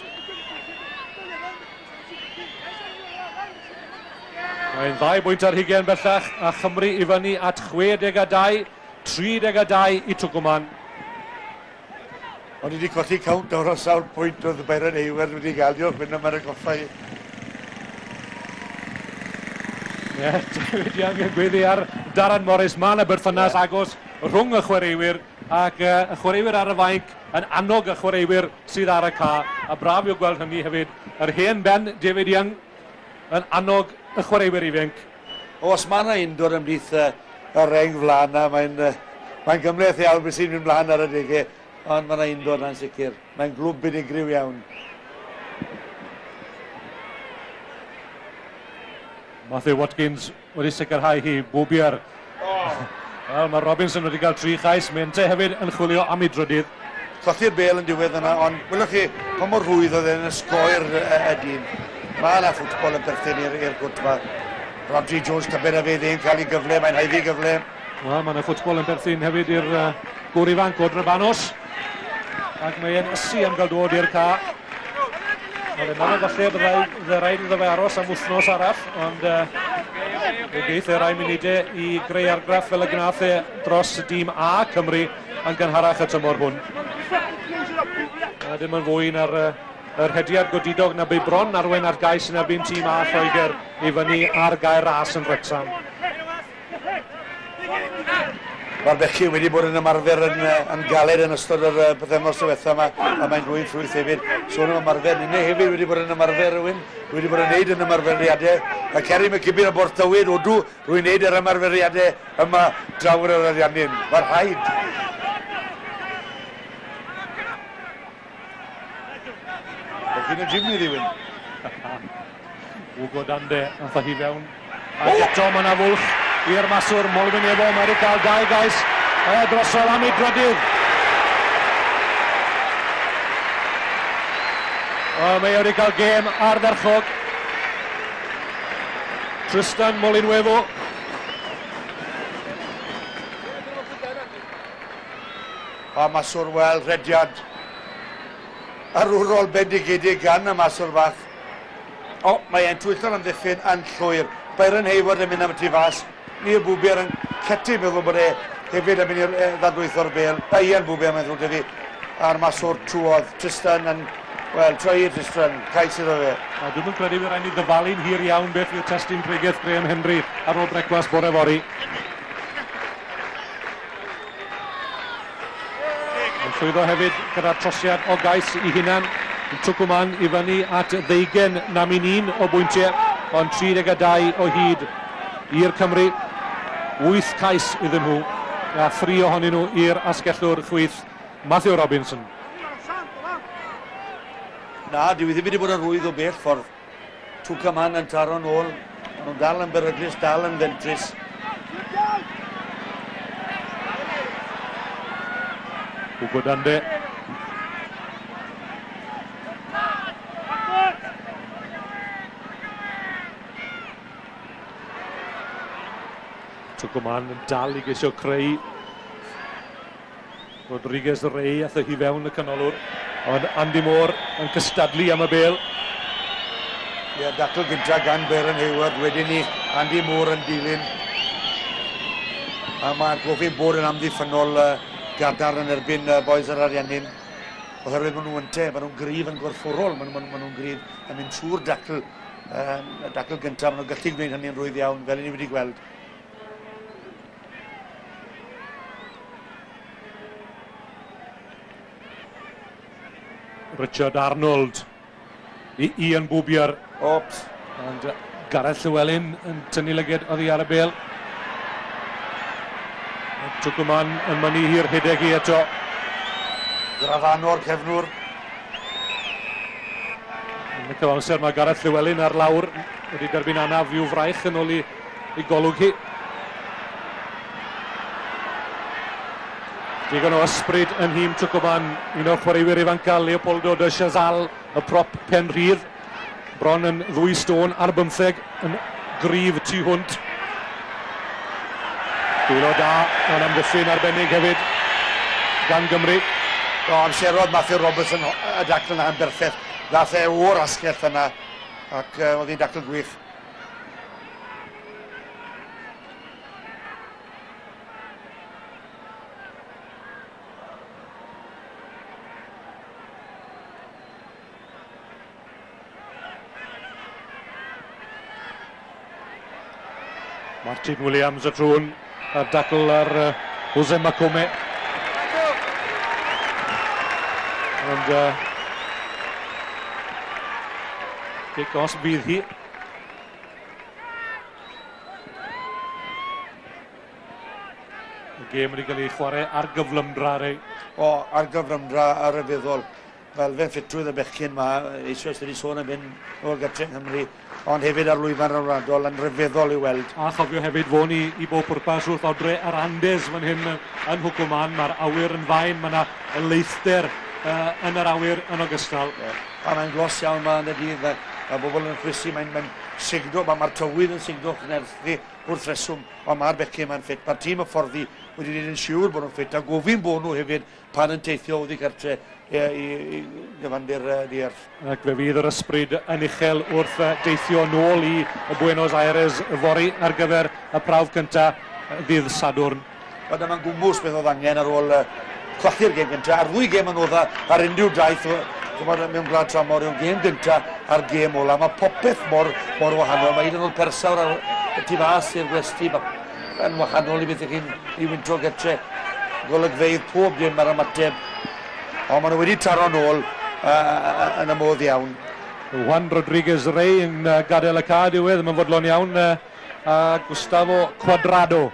Mae'n ddau bwynt ar hugain bellach a Chymru i fyny at chwe deg a dau, tri deg a dau i Twcwman. O'n i wedi colli cownt o'r o sawl pwynt oedd Byron Hayward wedi gael. Diolch Wyn am yr atgoffa i. Ie, David Young yn gweddi ar Darren Morris. Mae yna berthynas yeah. agos rhwng y chwaraewyr ac uh, y chwaraewyr ar y fainc yn annog y chwaraewyr sydd ar y ca. A braf yw gweld hynny hefyd. Yr hen ben David Young yn annog y chwaraewyr ifanc. O, os mae yna undod ymhlith y, y reng flaen na, mae'n uh, mae'n gymhleth iawn beth sy'n mynd mlaen ar y degau, ond mae yna undod na'n sicr. Mae'n glwb unigryw iawn. Matthew Watkins wedi sicrhau hi, Bwbier. Oh. Wel, mae Robinson wedi cael tri chais, mae ynte hefyd yn chwilio am ei drydydd. Colli'r bêl yn diwedd yna, ond welwch chi pa mor rhwydd oedd e'n ysgoi'r y, y dyn. Mae yna ffwtbol yn perthyn i'r gwt yma. Rodri Jones, tybed a fe ddim cael ei gyfle, mae'n haeddu gyfle. Wel, mae yna ffwtbol yn perthyn hefyd i'r uh, gŵr ifanc o Drebanos. Ac mae'n ysu am gael dod i'r ca. Mae'n meddwl falle byddai rhaid iddo fe aros am wythnos arall, ond uh, fe geith e rai munudau i greu argraff fel y gnath e dros dîm A Cymru yn gynharach y tymor hwn. A dim yn fwy na'r uh, yr hediad godidog na bu bron arwain ar gais yn erbyn tîm A Lloegr i fyny ar gael ras yn Wrecsam. Mae'r bechgyn wedi bod yn ymarfer yn, yn galed yn ystod yr pythefnos diwetha yma, a mae'n dwyn ffrwyth hefyd. Sôn am ymarfer, ninne hefyd wedi bod yn ymarfer rhywun, wedi bod yn neud yn ymarferiadau. A Kerry McKibbin o Borthywyd, odw, rwy'n neud yr ymarferiadau yma draw yr Ariannin. Mae'r rhaid. Chi'n y gym i ddywyn. Hugo Dande, nath hi fewn. Ac eto mae yna fwlch i'r maswr Molinuevo. Mae wedi cael dau gais e, drosodd am ei drydydd. O, mae wedi cael gêm ardderchog. Tristan Molinuevo. A maswr wel, rediad arwrol bendigedig gan y maswr fach. O, mae e'n twyllo'r amddiffyn yn llwyr. Byron Hayward yn mynd am y tu fas. Neil Bwbier yn ceti meddwl bod e hefyd yn mynd i ddadlwytho'r bêl. A Ian Bwbier mae'n ddrwg 'da fi. A'r maswr trwodd. Tristan yn, wel, troi i Tristan, cais iddo fe. A dwi'm yn credu fydd rhaid ni ddyfalu'n hir iawn beth yw'r testun pregeth Graham Henry ar ôl brecwast bore fory. Yn llwyddo hefyd gyda'r trosiad o gais i hunan. Twcwman i fyny at ddeugain namyn un o bwyntiau, ond tri deg a dau o hyd i'r Cymru. Wyth cais iddyn nhw, a thri ohonyn nhw i'r asgellwr chwith Matthew Robinson. Na, dyw i ddim wedi bod yn rwydd o bell ffordd. Twcwman yn taro nôl, Maen nhw'n dal yn beryglus, dal yn fentrus. Hugo Dande. Tucumán yn dal i geisio creu. Rodriguez Rey ath hi fewn y canolwr, ond Andy Moore yn cystadlu am y bêl. Ie, dacl gynta gan Byron Hayward, wedyn ni Andy Moore yn dilyn. A mae'r gofyn bod yn amddiffynnol uh, gadarn yn erbyn uh, boys yr Ariannin. Oherwydd maen nhw ynte, maen nhw'n gryf yn gorfforol, maen nhw'n maen nhw gryf yn mynd trwy'r dacl, um, dacl gyntaf, maen nhw'n gallu gwneud hynny'n rhwydd iawn, fel ni wedi gweld. Richard Arnold i Ian Boobier. Ops. Ond Gareth Llewellyn yn tynnu lyged oddi ar y bêl. Tucumán yn mynnu hi'r rhedeg hi eto. Grafano'r cefnwr. Yn y cyfamser mae Gareth Llewellyn ar lawr wedi derbyn anaf i'w fraich yn ôl i, i golwg hi. Digon o ysbryd yn nhîm Tucumán, un o'r chwaraewyr ifanca, Leopoldo de Chazal, y prop pen rhydd. Bron yn ddwy stôn ar bymtheg, yn gryf tu hwnt. Dwylo da, yn amddiffyn arbennig hefyd gan Gymru. O, amserodd Matthew Robertson y dacl yna yn berffaith. Ddath e o'r asgell yna, ac uh, oedd hi'n dacl gwych. Martin Williams y trwn a'r dacl ar uh, Jose Macome. Ond uh, gic os bydd hi. Y gêm wedi cael ei chwarae ar gyflymdra rei. O, ar gyflymdra a ryfeddol. Fel fe ffitrwydd y bechgyn yma, eisoes wedi sôn am hyn o'r gartre yng Nghymru, ond hefyd ar lwyfan rhyngwladol yn ryfeddol i weld. A chofio hefyd fo ni i bob pwrpas wrth odre yr Andes fan hyn yn Hwcwman, mae'r awyr yn fain, mae yna leithder uh, yn yr awyr yn ogystal. Yeah. A mae'n glos iawn yma yn y dydd, mae bobl yn chwysu, mae'n mae sigdo, mae'r ma tywydd yn sigdo chnerthu wrth reswm, ond mae'r bechgyn yma'n ffit. Mae'r tîm hyfforddi wedi gwneud yn siŵr bod nhw'n ffit, a gofyn bod nhw hefyd pan yn teithio oddi cartre i, i, i gyfandir dierth. Ac fe fydd yr ysbryd yn uchel wrth deithio nôl i Buenos Aires fory ar gyfer y prawf cyntaf ddydd Sadwrn. Wel, dyma'n gwmws beth oedd angen ar ôl colli'r gêm gyntaf, a'r ddwy gêm anodda ar unrhyw daith ch'mod, mewn gwlad tramor yw'r gêm gyntaf a'r gêm ola. Mae popeth mor, mor wahanol. Mae hyd yn oed persawr ar y tu fas i'r gwesty yn wahanol i beth ych chi'n i wyntro gytre. Golygfeydd pob dim ar ymateb. Ond maen nhw wedi taro nôl uh, yn y modd iawn. Juan Rodriguez Rey yn uh, gadael y ca diwedd, mae'n fodlon iawn, uh, a Gustavo Cuadrado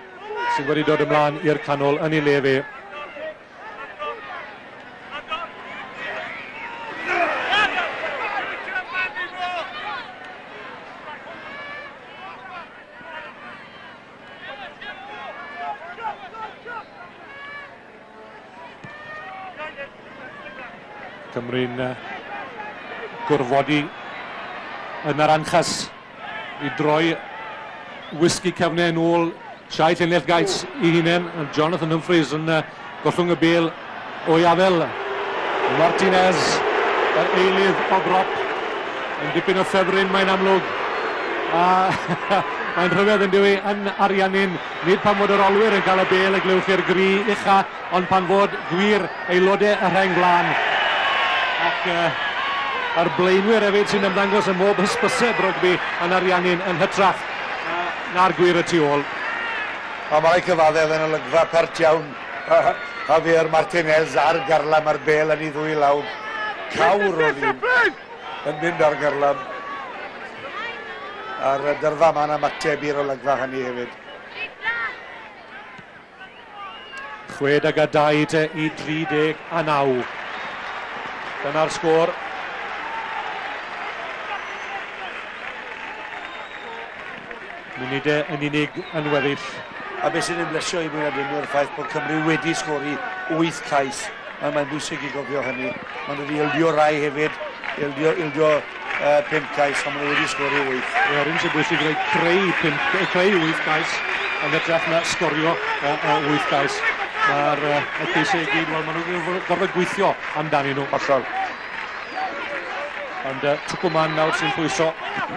sydd wedi dod ymlaen i'r canol yn ei le fe. Cymru'n uh, gorfodi yn yr anchas i droi wisgi cefnau yn ôl siau llinell gais i hunain. Jonathan Humphreys yn uh, gollwng y bêl o'i afel. Martinez, yr eilydd o brop, yn dipyn o ffefryn mae'n amlwg. A mae'n rhyfedd yn dyw e yn Ariannin, nid pan fod yr olwyr yn cael y bêl y glywch i'r gri ucha, ond pan fod gwir aelodau y rheng flaen. Ac uh, a'r blaenwyr hefyd sy'n ymddangos ym mhob hysbyseb rygbi yn Ariannin yn hytrach uh, na'r gwir y tu ôl. A mae cyfaddef yn olygfa pert iawn. Javier Martinez ar garlam ar bêl yn ei ddwy law. Cawr o ddyn yn mynd ar garlam. A'r dyrfa ma'n ymateb i'r olygfa hynny hefyd. Chwe deg a dau te i dri deg a naw. Dyna'r sgôr. Munudau yn unig yn weddill. A beth sy'n ymblesio i mwy na dim yw'r ffaith bod Cymru wedi sgori wyth cais. Mae'n bwysig i gofio hynny. Maen nhw wedi ildio rai hefyd, ildio, ildio uh, pump cais, ond maen nhw wedi sgori wyth. Yr un sy'n bwysig yw creu, pump, creu wyth cais yn hytrach na sgorio uh, uh, wyth cais. Mae'r uh, y ceisiau i gyd, wel, maen nhw'n gorfod gweithio amdanyn nhw. Hollol. Ond uh, Tucumán nawr sy'n pwyso.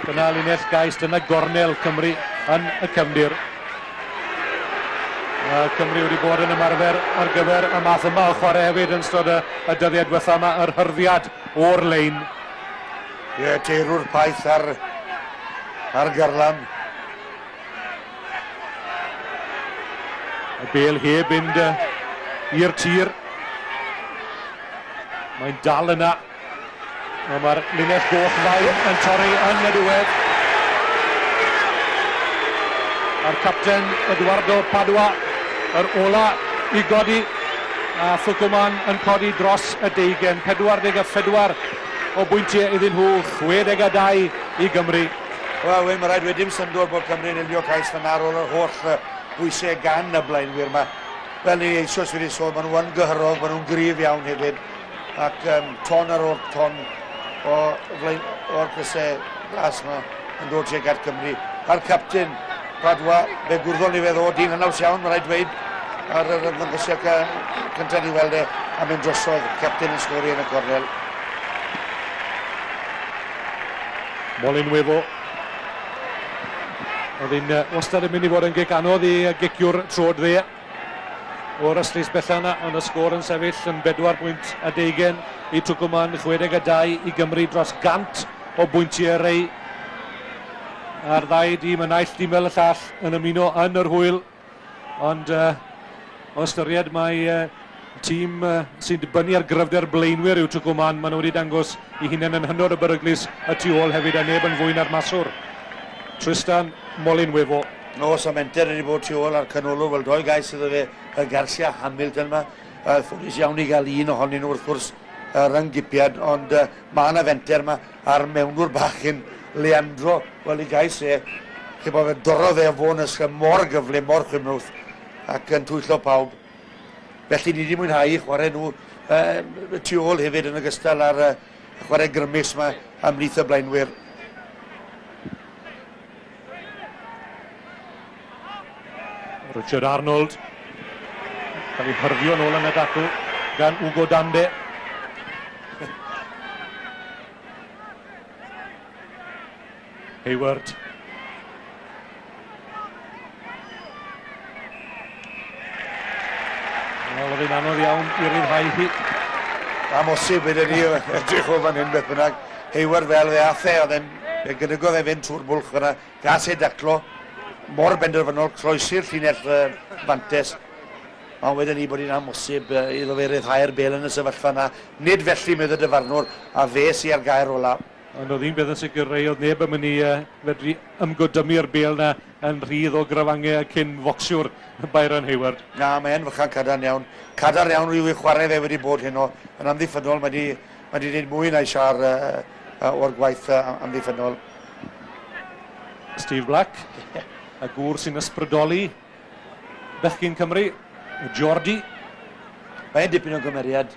Dyna linell gais, dyna gornel Cymru yn y cefndir. Uh, Cymru wedi bod yn ymarfer ar gyfer y math yma o chwarae hefyd yn ystod y, y dyddiau diwetha yma, yr hyrddiad o'r lein. Ie, yeah, teirwr paith ar, ar garlam. Y bel heb fynd i'r tir. Mae'n dal yna. A mae'r linell goch fain yn torri yn y diwedd. A'r capten Eduardo Padua, yr ola i godi, a Tucumán yn codi dros y deugain. pedwar deg a phedwar o bwyntiau iddyn nhw, chwe deg a dau i Gymru. Wel, mae rhaid wedi dim syndod bod Cymru'n ildio cais fan ar ôl yr holl bwysau gan y blaenwyr yma. Fel ni eisoes wedi sôn, maen nhw yn gyhyrog, maen nhw'n gryf iawn hefyd. Ac um, ton ar ôl ton o flaen, o'r crysau glas yma yn dod tuag at Cymru. A'r capten Padua, fe gwrddon ni fe ddod, dyn hynaws iawn, mae rhaid dweud, ar yr ymddangosiad cyntaf ni weld e, a mynd drosodd, capten yn sgori yn y cornel. Molinuevo. Oedd hi'n wastad yn mynd i fod yn gic anodd i giciwr trod dde o'r ystlys bella yna, ond y sgôr yn sefyll yn bedwar pwynt a deugain i Tucumán, chwe deg a dau i Gymru, dros gant o bwyntiau rei. A'r ddau dîm, y naill dîm fel y llall, yn ymuno yn yr hwyl. Ond uh, o ystyried mae uh, tîm uh, sy'n dibynnu ar gryfder blaenwyr yw Tucumán, maen nhw wedi dangos i hunain yn hynod o beryglus y tu ôl hefyd, a neb yn fwy na'r maswr. Tristan Molinuevo. Nos a menter wedi bod tu ôl ar canolwr, wel doi gais iddo fe, y Garcia Hamilton yma. Uh, ffodus iawn i gael un ohonyn nhw wrth gwrs uh, rhyng-gipiad, ond uh, mae yna fenter yma a'r mewnwr bachyn Leandro, wel i gais e, chi bod fe dorrodd e o fôn ysgrif mor gyflym, mor chwimwth, ac yn twyllo pawb. Felly ni wedi mwynhau chwarae nhw uh, tu ôl hefyd yn ogystal â'r uh, chwarae grymus yma ymhlith y blaenwyr. Richard Arnold cael ei hyrddio nôl yn y dacl gan Hugo Dande. Hayward. Wel, oedd hi'n anodd iawn i ryddhau hi. Amhosib wedyn ni edrych o fan hyn beth bynnag. Hayward fel fe ath e, oedd e'n fe gynygodd e fynd trwy'r bwlch fyna, gas e daclo, mor benderfynol, croesi'r llinell uh, fantes. Ond wedyn ni bod hi'n amhosib uh, iddo fe ryddhau'r bel yn y sefyllfa yna. Nid felly medd y dyfarnwr, a fe sy ar gair ola. Ond oedd un beth yn sicr, rei oedd neb yn mynd i uh, fedru ymgodymu'r bel na yn rhydd o grafangau cyn focsiwr Byron Hayward. Na, mae'n fychan cadarn iawn. Cadarn iawn rhyw i chwarae fe wedi bod heno. Yn amddiffynnol, mae wedi, mae wedi gwneud mwy na siar uh, uh, o'r gwaith uh, amddiffynnol. Steve Black, y gŵr sy'n ysbrydoli bechgyn Cymru, Jordi. Mae'n dipyn o gymeriad.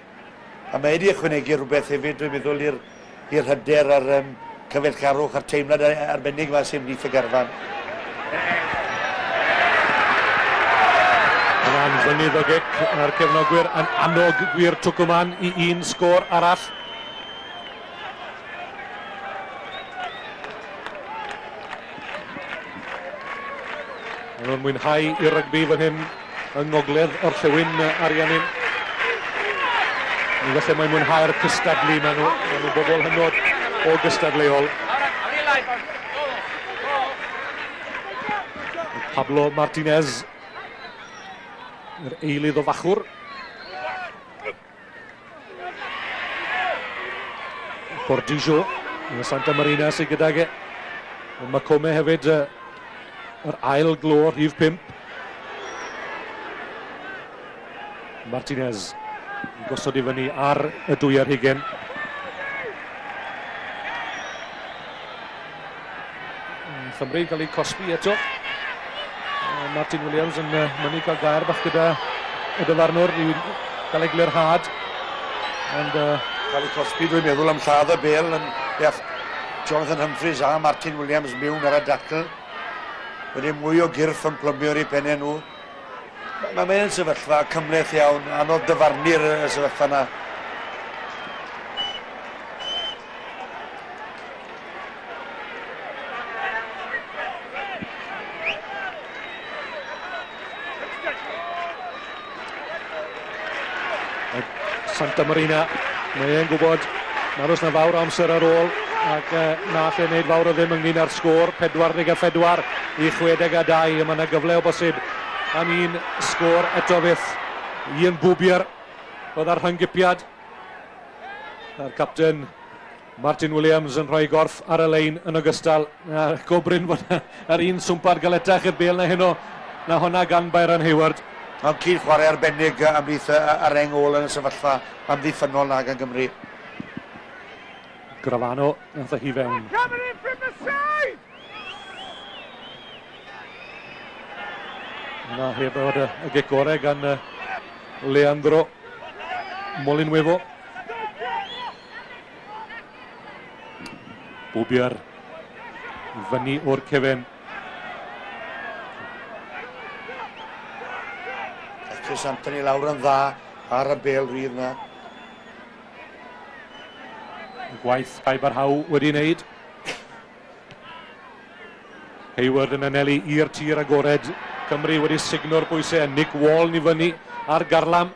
A mae wedi ychwanegu rhywbeth hefyd, dwi'n meddwl, i'r i'r hyder a'r um, cyfeillgarwch a'r teimlad arbennig yma sy'n ymhlith y garfan. Yna'n fynydd o gic, a'r cefnogwyr yn annog gwir Tucumán i un sgôr arall. Maen nhw'n mwynhau i rygbi fan hyn yng Ngogledd Orllewin Ariannin. Felly mae'n mwynhau'r cystadlu, maen nhw, maen nhw'n bobl hynod o gystadleuol. Pablo Martinez, yr eilydd o fachwr. Bordillo, yn y Santa Marina sydd gydag e. Macome hefyd, yr ail glo, rhif pump. Martinez yn gosod i fyny ar y dwy ar hugain. Chymru yn cael eu cosbi eto. Martin Williams yn mynnu cael gair bach gyda y dyfarnwr i gael eglurhad. Ond uh, cael ei cosbi, dwi'n meddwl, am lladd y bel yn beth Jonathan Humphreys a Martin Williams mewn ar y dacl. Wedi mwy o gyrff yn plymio i pennau nhw. Mae mae'n sefyllfa cymhleth iawn, anodd dyfarnu'r sefyllfa yna. Santa Marina, mae e'n gwybod nad oes na fawr amser ar ôl ac na alle wneud fawr o ddim ynglyn â'r sgôr, pedwar deg a phedwar i chwe deg a dau, a mae yna gyfle o bosib am un sgôr eto fyth. Ian Boobier oedd ar rhynggipiad, a'r capten Martin Williams yn rhoi gorff ar y lein yn ogystal. A go brin fod yr un swmpad galetach i'r bêl na heno, na honna gan Byron Hayward. Mae'n cyd chwarae arbennig ymhlith yr reng ôl yn y sefyllfa amddiffynnol na gan Gymru. Gravano nath hi fewn. Yna heb bod y gic gorau gan Leandro Molinuevo. Boobier fyny o'r cefen. Chris Anthony lawr yn dda ar y bel rydd na. Gwaith Kai Barhaw wedi wneud. Hayward yn anelu i'r tir agored. Cymru wedi signo'r bwysau. Nick Wall ni fyny ar garlam.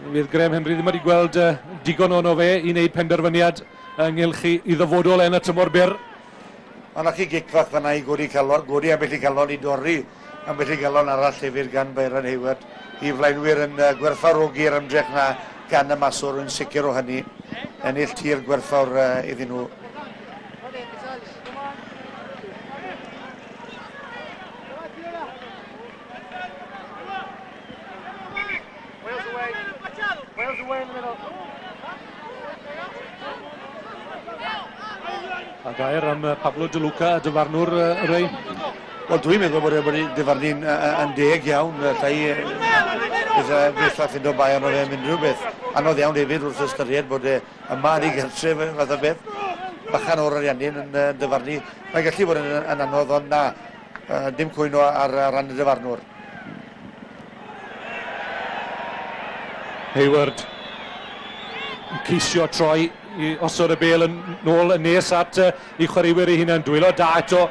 Fydd Graham Henry ddim wedi gweld uh, digon ono fe i wneud penderfyniad ynghylch i ddyfodol yn y tymor byr. Ond chi gic fach fan'na i godi calon, godi ambell i galon i dorri ambell i galon arall hefyd gan Byron Hayward. I flaenwyr yn uh, gwerthfawrogi'r ymdrech na gan y maswr yn sicr o hynny. Ennill tir gwerthfawr uh, iddyn nhw. A gair am Pablo De Luca, dyfarnwr uh, Ray. Wel, dwi'n meddwl bod e wedi dyfarnu'n yn deg iawn. Llai beth a ffindo bai arno fe am unrhyw beth. Anodd iawn hefyd wrth ystyried bod e yma yn ei gartref fath o beth. Bachan o'r Ariannin yn dyfarnu. Mae'n gallu bod yn, yn anodd, ond na, dim cwyno ar, ar ran y dyfarnwr. Hayward yn ceisio troi i osod y bêl yn nôl yn nes at uh, i chwaraewyr ei hunain. Dwylo da eto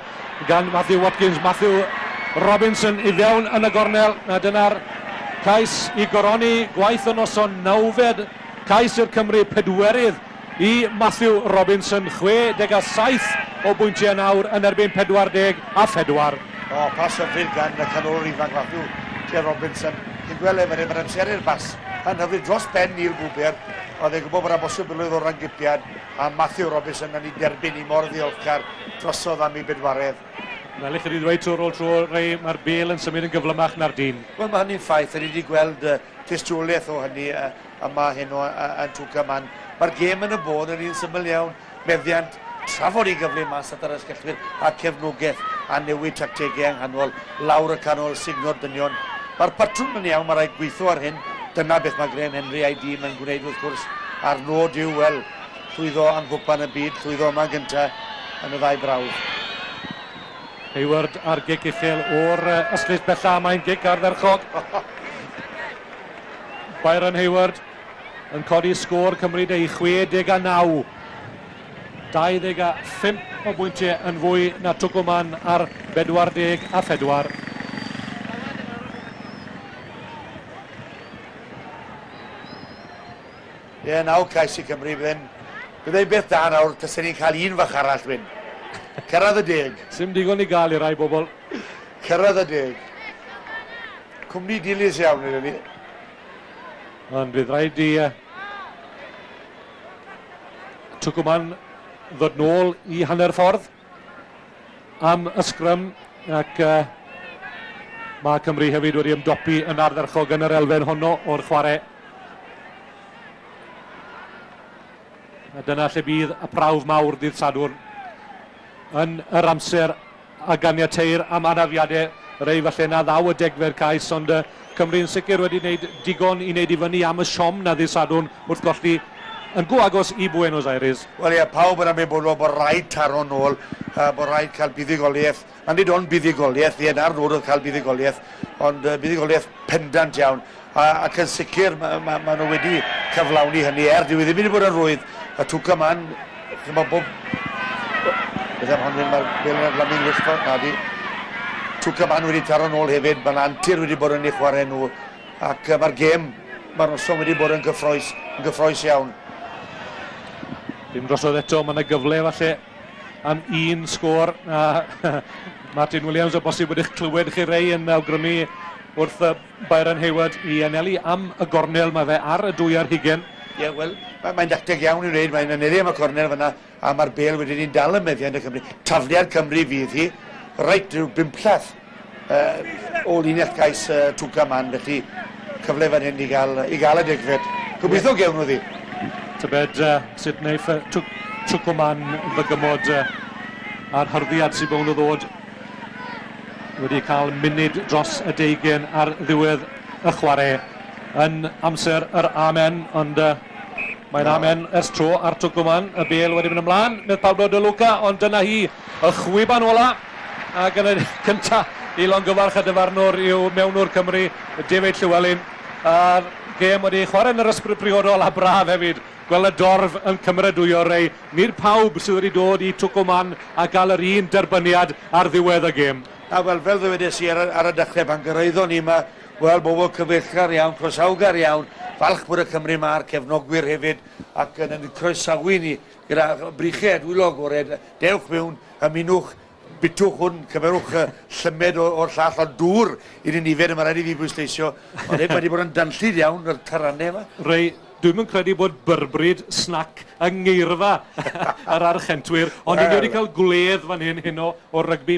gan Matthew Watkins. Matthew Robinson i fewn yn y gornel. A dyna'r cais i goroni gwaith y noson nawfed. Cais i'r Cymru, pedwerydd i Matthew Robinson. chwe deg a saith o bwyntiau nawr yn erbyn pedwar deg a phedwar. O, pas hyfryd gan y canolwr ifanc Matthew J. Robinson. Chi'n gweld e, mae'n amseru'r bas. Yn hyfryd dros ben Neil Boobier. Oedd e'n gwybod bod yna bosibilrwydd o rangipiad, a Matthew Robinson yn ei derbyn i mor ddiolchgar drosodd am ei bedwaredd. Fel i chi wedi dweud tro ar ôl tro, Ray, mae'r bêl yn symud yn gyflymach na'r dyn. Wel, mae hynny'n ffaith. Ni wedi gweld uh, tystiolaeth o hynny uh, yma heno uh, yn Twcaman. Mae'r gêm yn y bôn yn un syml iawn. Meddiant trafod i gyflym mas at yr asgellwyr a cefnogaeth a newid tactegau yng nghanol, lawr y canol, signo'r dynion. Mae'r patrwm yn iawn, mae rhaid gweithio ar hyn. Dyna beth mae Graham Henry a'i dîm yn gwneud wrth gwrs, a'r nod yw, wel, llwyddo am gwpan y byd, llwyddo yma gyntaf yn y ddau brawf. Hayward ar gic uchel o'r ystlys bella, mae'n gic ardderchog. Byron Hayward yn codi sgôr Cymru de i chwe deg a naw. dau ddeg a phump o bwyntiau yn fwy na Twcwman ar bedwar deg a phedwar. Ie, naw cais i Cymru, byddai'n byddai beth da nawr, tasen ni'n cael un fach arall wyn. Cyrraedd y deg. Sim digon i gael i rai bobl. Cyrraedd y deg. Cwmni dilys iawn iddo ni. Ond fydd rhaid i uh, Twcwman ddod nôl i hanner ffordd am y sgrym, ac uh, mae Cymru hefyd wedi ymdopi yn ardderchog yn yr elfen honno o'r chwarae. A dyna lle bydd y prawf mawr dydd Sadwrn yn yr amser a ganiateir am anafiadau. Rei falle na ddaw y degfed cais, ond uh, Cymru'n sicr wedi wneud digon i wneud i fyny am y siom na ddydd Sadwrn wrth golli yn go agos i Buenos Aires. Wel ie, pawb yn ymwybodol bod rhaid taro nôl, uh, bod rhaid cael buddugoliaeth. A nid ond buddugoliaeth, ie, na'r nod oedd cael buddugoliaeth, ond uh, buddugoliaeth pendant iawn. A, ac yn sicr, ma, ma, ma nhw wedi cyflawni hynny, er dyw e ddim wedi bod yn rwydd. Y Twcumán, chymod, bob... Beth am hon, mae'r bêl yn adlamu'n wyllt, na di. Twcumán wedi taro nôl hefyd, mae'n antur wedi bod yn ei chwarae nhw, ac uh, mae'r gêm, mae'r noson wedi bod yn gyffrous, yn gyffrous iawn. Dim drosodd eto, mae yna gyfle falle am un sgôr. A Martin Williams o bosib wedi'ch clywed chi rei yn awgrymu wrth Byron Hayward i anelu am y gornel. Mae fe ar y dwy ar hugen. Ie, yeah, wel, mae'n dacteg iawn i wneud, mae'n anelu am y cornel fyna, a mae'r bêl wedyn ni'n dal y meddiant y Cymru. Tafliad Cymru fydd hi, reit rhyw bumplath uh, o linell gais uh, Twcumán, felly cyfle fan hyn i gael, i gael y degfed. Gobeithio yeah. gewn nhw ddi. Tybed uh, sut wneith Twcumán ddygymod uh, a'r hyrddiad sy'n bown o ddod wedi cael munud dros y deugain ar ddiwedd y chwarae yn amser yr amen, ond uh, mae'n amen ers tro ar Twcumán. Y bêl wedi mynd ymlaen, medd Pablo De Luca, ond dyna hi, y chwiban ola, ac yn y cynta i longyfarch y dyfarnwr yw mewnwr Cymru, David Llewellyn, a'r gêm wedi chwarae yn yr ysbryd priodol a braf hefyd. Gweld y dorf yn cymeradwyo rei. Nid pawb sydd wedi dod i Twcumán a gael yr un derbyniad ar ddiwedd y gêm. A wel, fel ddywedes i ar, ar y dechrau pan gyrraeddon ni yma, wel, bobl cyfeillgar iawn, croesawgar iawn, falch bod y Cymru yma a'r cefnogwyr hefyd, ac yn, yn croesawu ni gyda brychau a dwylo agored. Dewch mewn, ymunwch, bitwch hwn, cymerwch llymed o'r llall, ond dŵr i ni'n ifed, mae rhaid i fi bwysleisio. Ond mae wedi bod yn danllyd iawn yr tarannau yma. Rei, dwi'm yn credu bod byrbryd snac yng ngeirfa yr Archentwyr, ond ni wedi cael gwledd fan hyn heno o rygbi.